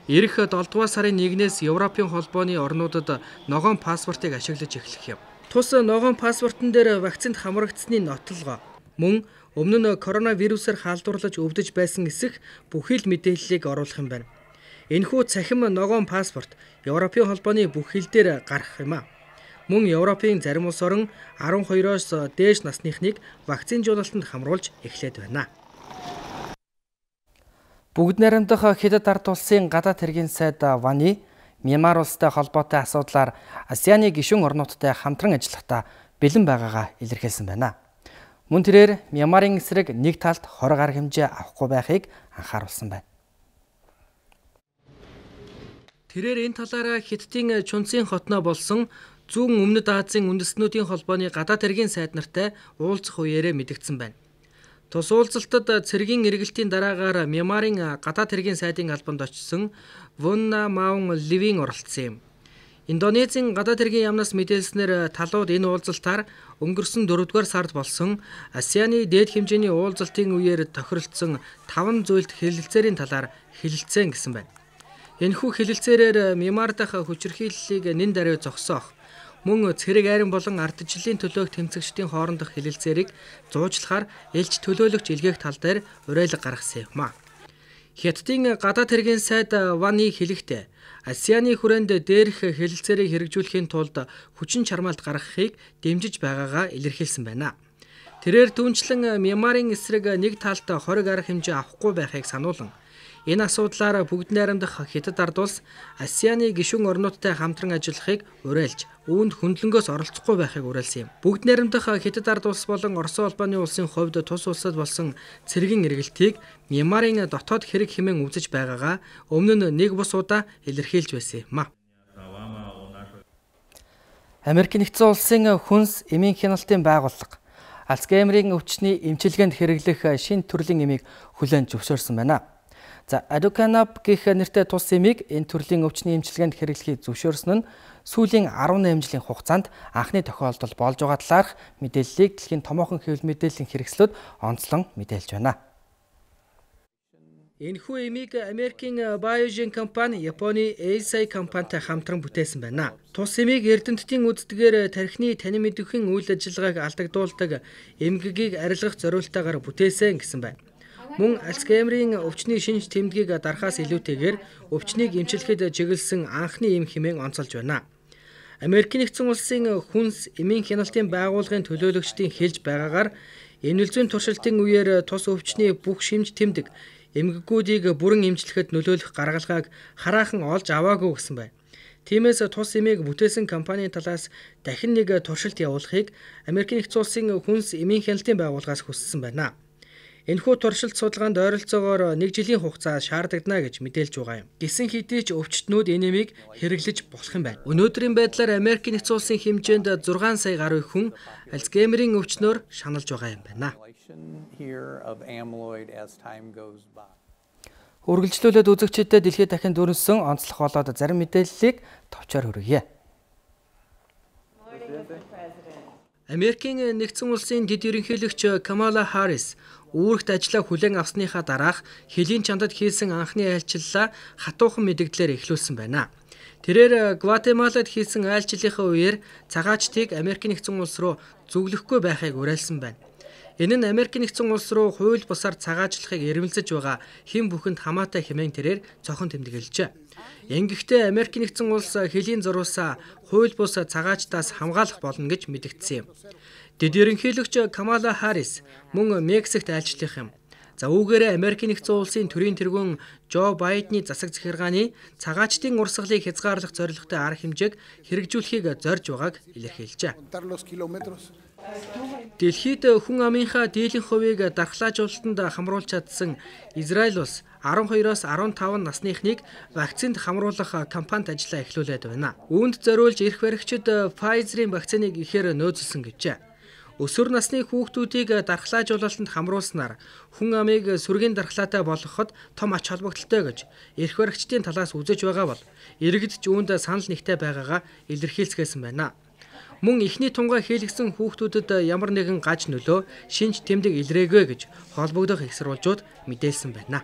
Ирэх долоо дугаар сарын нэгнээс Европын холбооны орнуудад ногоон паспортыг ашиглаж эхлэх юм. Тус ногоон паспортон дээр вакцинд хамрагдсны нотолгоо мөн өмнө нь коронавирусаар халдварлаж өвдөж байсан эсэх бүхий л мэдээллийг оруулах юм байна. Энэхүү цахим ногоон паспорт Европын холбооны бүх хил дээр гарах юм а. Мөн Европын зарим улс орон арван хоёроос дээш насныхныг вакцинжуулалтанд хамруулж эхлээд байна. Бүгд найрамдах Хятад ард улсын гадаад хэргийн сайд Вани Мьянмар улстай холбоотой асуудлаар АСЕАН-ы гишүүн орнуудтай хамтран ажиллахдаа бэлэн байгаагаа илэрхийлсэн байна. Мөн тэрээр Мьянмарын эсрэг нэг талд хориг арга хэмжээ авахгүй байхыг анхааруулсан байна. Тэрээр энэ талаараа Хятадын Чунцин хотноо болсон зүүн өмнөд Азийн үндэстнүүдийн холбооны гадаад хэргийн сайд нартай уулзах үеэрээ мэдгдсэн байна. Тус уулзалтад цэргийн эргэлтийн дараагаар Мьянмарын гадаад хэргийн сайдын албанд очсон Вунна Маун Ливийн оролцсон юм. Индонезийн гадаад хэргийн яамнаас мэдээлснээр талууд энэ уулзалтаар өнгөрсөн дөрөвдүгээр сард болсон АСЕАН-ы дээд хэмжээний уулзалтын үеэр тохиролцсон таван зүйлд хэлэлцээрийн талаар хэлэлцэн гэсэн байна. Энэхүү хэлэлцээрээр Мьянмар дахь хүчирхийллийг нэн даруй зогсоох, мөн цэрэг айран болон ардчиллийн төлөөх тэмцэгчдийн хоорондох хэлэлцээрийг зуучлахаар элч төлөөлөгч илгээх тал дээр уриалга гаргасан юм а. Хятадын гадаад хэргийн сайд Ваны хэлэхдээ Асианы хүрээнд дээрх хэлэлцээрийг хэрэгжүүлэхийн тулд хүчин чармаалт гаргахыг дэмжиж байгаагаа илэрхийлсэн байна. Тэрээр түнчлэн Мьянмарын эсрэг нэг талд хориг арга хэмжээ авахгүй байхыг сануулan энэ асуудлаар бүгд найрамдах Хятад ард улс Асианы гишүүн орнуудтай хамтран ажиллахыг уриалж, үүнд хөндлөнгөөс оролцохгүй байхыг уриалсан юм. Бүгд найрамдах Хятад ард улс болон Оросын улбаны улсын хувьд тус улсад болсон цэргийн эргэлтийг Мьянмарын дотоод хэрэг хэмээн үзэж байгаагаа өмнө нь нэг бус удаа илэрхийлж байсан юм а. Америк нэгдсэн улсын хүнс эмийн хяналтын байгууллага Альцгеймерийн өвчний эмчилгээнд хэрэглэх шинэ төрлийн эмийг хүлээн зөвшөөрсөн байна. За Aducanumab гэх нэртэй тус эмийг энэ төрлийн өвчний эмчилгээнд хэрэглэхийг зөвшөөрсөн нь сүүлийн арван найман жилийн хугацаанд анхны тохиолдол болж байгаа талаарх мэдээллийг дэлхийн томоохон хэвлэл мэдээллийн хэрэгслүүд онцлон мэдээлж байна. Энэхүү эмийг Америкийн Biogen компани, Японы Eisai компанитай хамтран бүтээсэн байна. Тус эмийг эрдэмтдийн үздгээр тархины танин мэдэвхэн үйл ажиллагааг алдагдуулдаг эмгэгийг арилгах зорилтойгоор бүтээсэн гэсэн байна. Мөн Альцгеймерийн өвчний шинж тэмдгийг дарахаас илүүтэйгээр өвчнийг эмчлэхэд чиглэсэн анхны эм хэмээн онцолж байна. Америк нэгдсэн улсын хүнс эмийн хяналтын байгууллагын төлөөлөгчдийн хэлж байгаагаар энэ үлзүүн туршилтын үеэр тус өвчний бүх шинж тэмдэг эмгэгүүдийг бүрэн эмчлэхэд нөлөөлөх гаргалгааг хараахан олж аваагүй гэсэн байна. Тиймээс тус эмийг бүтээсэн компанийн талаас дахин нэг туршилт явуулахыг Америк нэгдсэн улсын хүнс эмийн хяналтын байгууллагаас хүссэн байна. Энэхүү туршилт судалгаанд ойролцоогоор нэг жилийн хугацаа шаардагдана гэж мэдээлж байгаа юм. Гэсэн хэдий ч өвчтнүүд энэ эмийг хэрэглэж болох юм байна. Өнөөдрийн байдлаар Америк нэгдсэн улсын хэмжээнд зургаан сая гаруй хүн Альцгеймерийн өвчнөөр шаналж байгаа юм байна. Үргэлжлүүлээд үзэгчдэд дэлхийд дахин дөрвсөн онцлог болоод зарим мэдээллийг товчоор хүргье. Америкийн нэгдсэн улсын дэд ерөнхийлөгч Камала Харрис үүрэгт ажлаа хүлээн авсныхаа дараах Хилийн чандад хийсэн анхны айлчлалаа хатуухан мэдэгдлээр эхлүүлсэн байна. Тэрээр Гватемалад хийсэн айлчлалынхаа үеэр цагаачтыг Америк нэгдсэн улс руу зөвлөхгүй байхыг уриалсан байна. Энэ нь Америк нэгдсэн улс руу хууль бусаар цагаачлахыг эрмэлзэж байгаа хэн бүхэнд хамаатай хэмээн тэрээр цохон тэмдэглэжээ. Ингэхдээ Америк нэгдсэн улс Хилийн зурвасаа хууль бус цагаачтаас хамгаалах болно гэж мэдэгдсэн юм. Дэд ерөнхийлөгч Камала Харрис мөн Мексикт айлчлах юм. За үүгээрээ Америк нэгдсэн улсын төрийн тэргүүн Жо Байдны засаг захиргааны цагаачтын урсгалыг хязгаарлах зорилготой арга хэмжээг хэрэгжүүлэхийг зорж байгааг илэрхийлжээ. Дэлхийд хүн амынхаа дийлэн хувийг дархлаажуулалтанд хамруулж чадсан Израиль улс арван хоёроос арван таван насныхныг вакцинд хамруулах кампанит ажиллаа эхлүүлээд байна. Үүнд зориулж эрх баригчид Pfizer-ийн вакциныг ихээр нөөцлсөн гэжээ. Өсвөр насны хүүхдүүдийг дархлаажуулалтанд хамруулснаар хүн амыг сүргийн дархлаатай болгоход том ач холбогдолтой гэж эрх баригчдын талаас үзэж байгаа бол иргэдч үүнд санал нэгтэй байгаагаа илэрхийлсгээсэн байна. Мөн эхний тунгаа хийлгсэн хүүхдүүдэд ямар нэгэн гаж нөлөө шинж тэмдэг илрээгүй гэж холбогдох их сурвалжууд мэдээлсэн байна.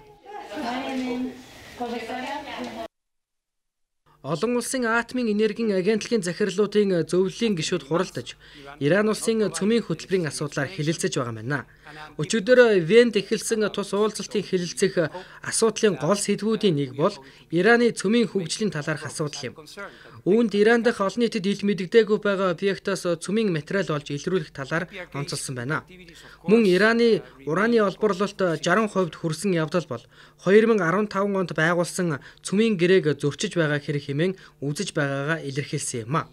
Олон улсын атомын энергийн агентлагийн захирлуудын зөвлөлийн гишүүд хуралдаж, Иран улсын цөмийн хөтөлбөрийн асуудлаар хэлэлцэж байгаа байна. Өчигдөр Венд эхэлсэн тус уулзалтын хэлэлцэх асуудлын гол сэдвүүдийн нэг бол Ираны цөмийн хөгжлийн талаарх асуудал юм. Үүнд Иран дахь олон нийтэд ил мэдэгдээгүй байгаа объектоос цөмийн материал олж илрүүлэх талаар онцолсон байна. Мөн Ираны ураны олборлолт шаран хувьд хүрсэн явдал бол хоёр мың арван таван онд байгуулсан цөмийн гэрээг зөрчиж байгаа хэрэг хэмээн үзэж байгаагаа илэрхийлсэн юм а.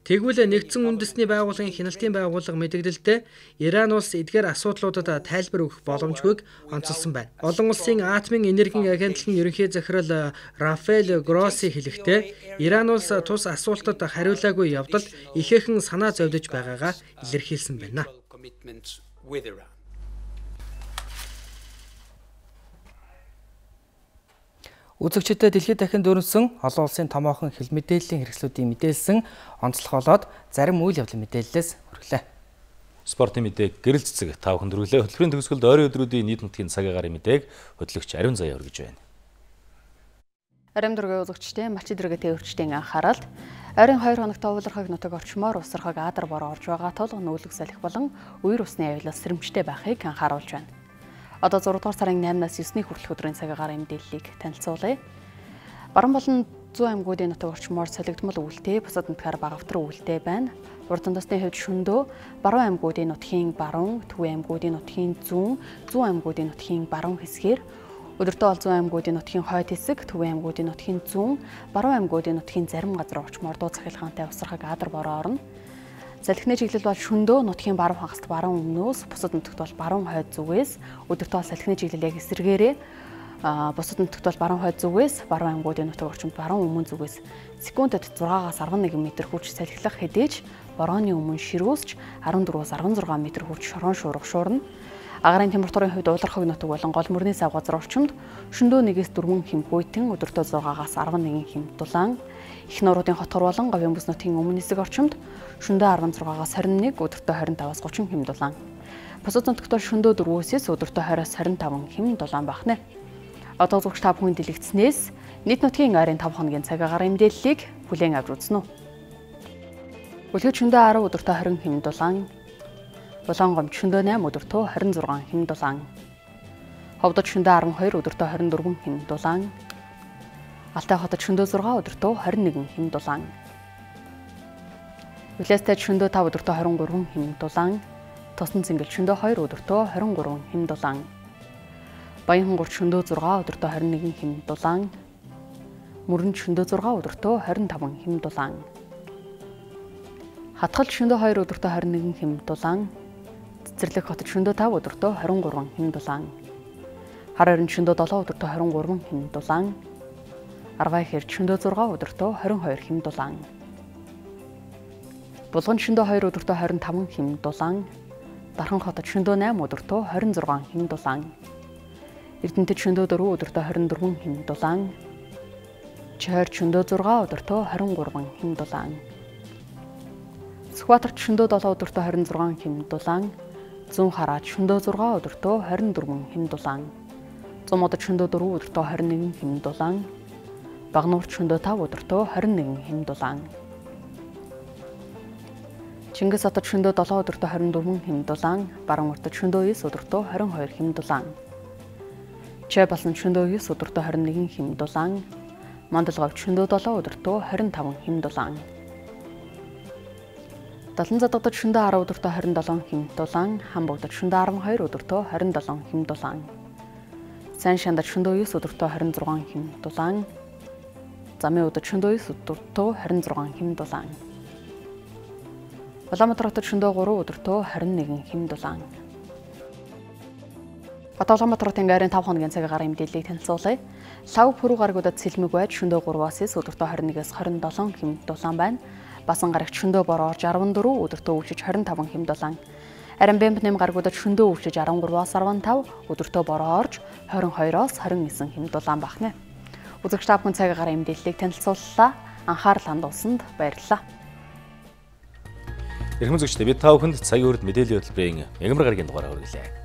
Тэгвэл нэгдсэн үндэсний байгууллагын хяналтын байгууллага мэдэгдэлдээ Иран улс эдгээр асуудлуудад тайлбар өгөх боломжгүйг онцолсон байна. Олон улсын атомын энергийн агентлагийн ерөнхий захирал Рафаэль Гросси хэлэхдээ Иран улс тус асуултад хариулаагүй явдал ихээхэн санаа зовдож байгаагаа илэрхийлсэн байна. Үзэгчдэд дэлхийд дахин дөрвсөн олон улсын томоохон хэл мэдээллийн хэрэгслүүдийн мэдээлсэн онцлог болоод зарим үйл явдлын мэдээллээс хүргэлээ. Спортын мэдээг гэрэл цэцэг тав хүндрүүлээ. Хөтөлбөрийн төгсгөлд ойрын өдрүүдийн нийт нутгийн цаг агарын мэдээг хөтлөгч Ариун Заяа өргөж байна. Арим дөргийн үзэгчдийн малчид дөргийн тээвэрчдийн анхааралд ойрын хоёр хоногт уулархаг нутаг орчмоор усархаг адар бороо орж байгаа тул нүүлэг салхи болон үер усны аюулаас сэрэмжтэй байхыг анхааруулж байна. Одоо зураг дугаар сарын наймнаас есний хүртэлх өдрийн цагаагаар мэдээллийг танилцуулъя. Баруун болон зүүн аймагуудын нутаг орчмоор солигдмол үүлтэй, бусад нутгаар багавтар үүлтэй байна. Урд тандасны хувьд шөнөдөө баруун аймагуудын нутгийн баруун, төвийн аймагуудын нутгийн зүүн, зүүн аймагуудын нутгийн баруун хэсгээр өдөртөө ол зүүн аймагуудын нутгийн хойд хэсэг, төвийн аймагуудын нутгийн зүүн, баруун аймагуудын нутгийн зарим газар орчмоор дуу цахилгаантай усархаг адар бороо орно. Салхины чиглэл бол шөнөдөө нутгийн баруун хагаст баруун өмнөөс, бусад нутагт бол баруун хойд зүгээс, өдөртөө салхины чиглэл яг эсрэгээрээ, бусад нутагт бол баруун хойд зүгээс, баруун аймагуудын нутаг орчимд баруун өмнө зүгээс секундэд зургаагаас арван нэгэн метр хүрч салхилах хэдийж борооны өмнө ширүүсч арван дөрвөөс арван зургаан метр хүрч шорон шуурга шуурна. Агаарын температурын хувьд уулархаг нутаг болон гол мөрний сав газар орчимд шөнөдөө нэгээс дөрвөн хэм хүйтэн, өдөртөө зургаагаас арван нэгэн хэм дулаан, их нуруудын хотхор болон говийн бүс нутгийн өмнө хэсэг орчимд шөнөдөө арван зургаагаас хорин нэг, өдөртөө хорин таваас гучин хэм дулаан. Бусад нутагт бол шөнөдөө дөрвөөс өдөртөө хойроос хорин таван хэм дулаан багнэ. Одоо зүгч та бүхэн дэлгэцснээс нийт нутгийн ойрын таван хоногийн цагаагаар мэдээллийг бүлээн авч үзнэ үү. Үлгэр шөнөдөө арав, өдөртөө хорин хэм дулаан. Булангомд шөнөдөө найм, өдөртөө хорин зургаан хэм дулаан. Ховдод шөнөдөө арван хоёр, өдөртөө хорин дөрвөн хэм дулаан. Алтай хотод шөнөдөө зургаан, өдөртөө хорин нэгэн хэм дулаан. Үлээстэй шөнөдөө тав, өдөртөө хорин гурван хэм дулаан. Тосон цэнгэл шөнөдөө хоёр, өдөртөө хорин гурван хэм дулаан. Баян хонгорт шөнөдөө зургаан, өдөртөө хорин нэгэн хэм дулаан. Мөрөнд шөнөдөө зургаан, өдөртөө хорин таван хэм дулаан. Хатгал шөнөдөө хоёр, өдөртөө хорин нэгэн хэм дулаан. Цэцэрлэг хотод шөнөдөө тав, өдөртөө хорин гурван хэм дулаан. Хар орон шөнөдөө долоо, өдөртөө хорин гурван хэм дулаан. Аргай хэрд шөнөдөө зургаан, өдөртөө хорин хоёр хэм дулаан. Булган шөнөдөө хоёр, өдөртөө хорин таван хэм дулаан. Дархан хотод шөнөдөө найм, өдөртөө хорин зургаан хэм дулаан. Эрдэнэтэд шөнөдөө дөрөв, өдөртөө хорин дөрвөн хэм дулаан. Чойр шөнөдөө зургаан, өдөртөө хорин гурван хэм дулаан. Сүхбаатарт шөнөдөө долоо, өдөртөө хорин зургаан хэм дулаан. Зүүн хараад шөнөдөө зургаан, өдөртөө хорин дөрвөн хэм дулаан. Зумуудад шөнөдөө дөрөв, өдөртөө хорин нэгэн хэм дулаан. Багнуурт шөнөдөө тав, өдөртөө хорин нэгэн хэм дулаан. Чингис хотод шөнөдөө долоо, өдөртөө хорин дөрвөн хэм дулаан. Баруун уртад шөнөдөө эс, өдөртөө хорин хоёр хэм дулаан. Чай болсон шөнөдөө эс, өдөртөө хорин нэгэн хэм дулаан. Мандалговт шөнөдөө долоо, өдөртөө хорин таван хэм дулаан. Далан задагдад шөнөдөө арав, өдөртөө хорин долоон хэм дулаан. Хамбогдод шөнөдөө арван хоёр, өдөртөө хорин долоон хэм дулаан. Сайн шандад шөнөдөө эс, өдөртөө хорин зургаан хэм дулаан. Замын удад шөнөдөө эс, өдөртөө хорин зургаан хэм дулаан. Улаанбаатар хотод шөнөдөө гурав, өдөртөө хорин нэгэн хэм дулаан. Одоо Улаанбаатар хотын ойрын таван хоногийн цагаагаар мэдээллийг танилцуулъя. Лав пүрэв гарагуудад сэлмэг байж шөнөдөө гураваас өдөртөө хорин нэгээс хорин долоон хэм дулаан байна. Басан гарагт шөнөдөө бороо орж арван дөрөв, өдөртөө өвчөж хорин таван хэм дулаан. Харин Бэмб нэм гарагуудад шөнөдөө өвчөж арван гураваас арван тав, өдөртөө бороо орж хорин хоёроос хорин нэгэн хэм дулаан багнэ. Үзэгч та бүхэн цагаагаар мэдээллийг танилцууллаа. Анхаарал хандуулсанд баярлалаа. Эрхэм үзэгчдээ бид та бүхэнд цагийн үрд мэдээллийн хөтөлбөрийн мегамар гарагийн дугаараа хүргэлээ.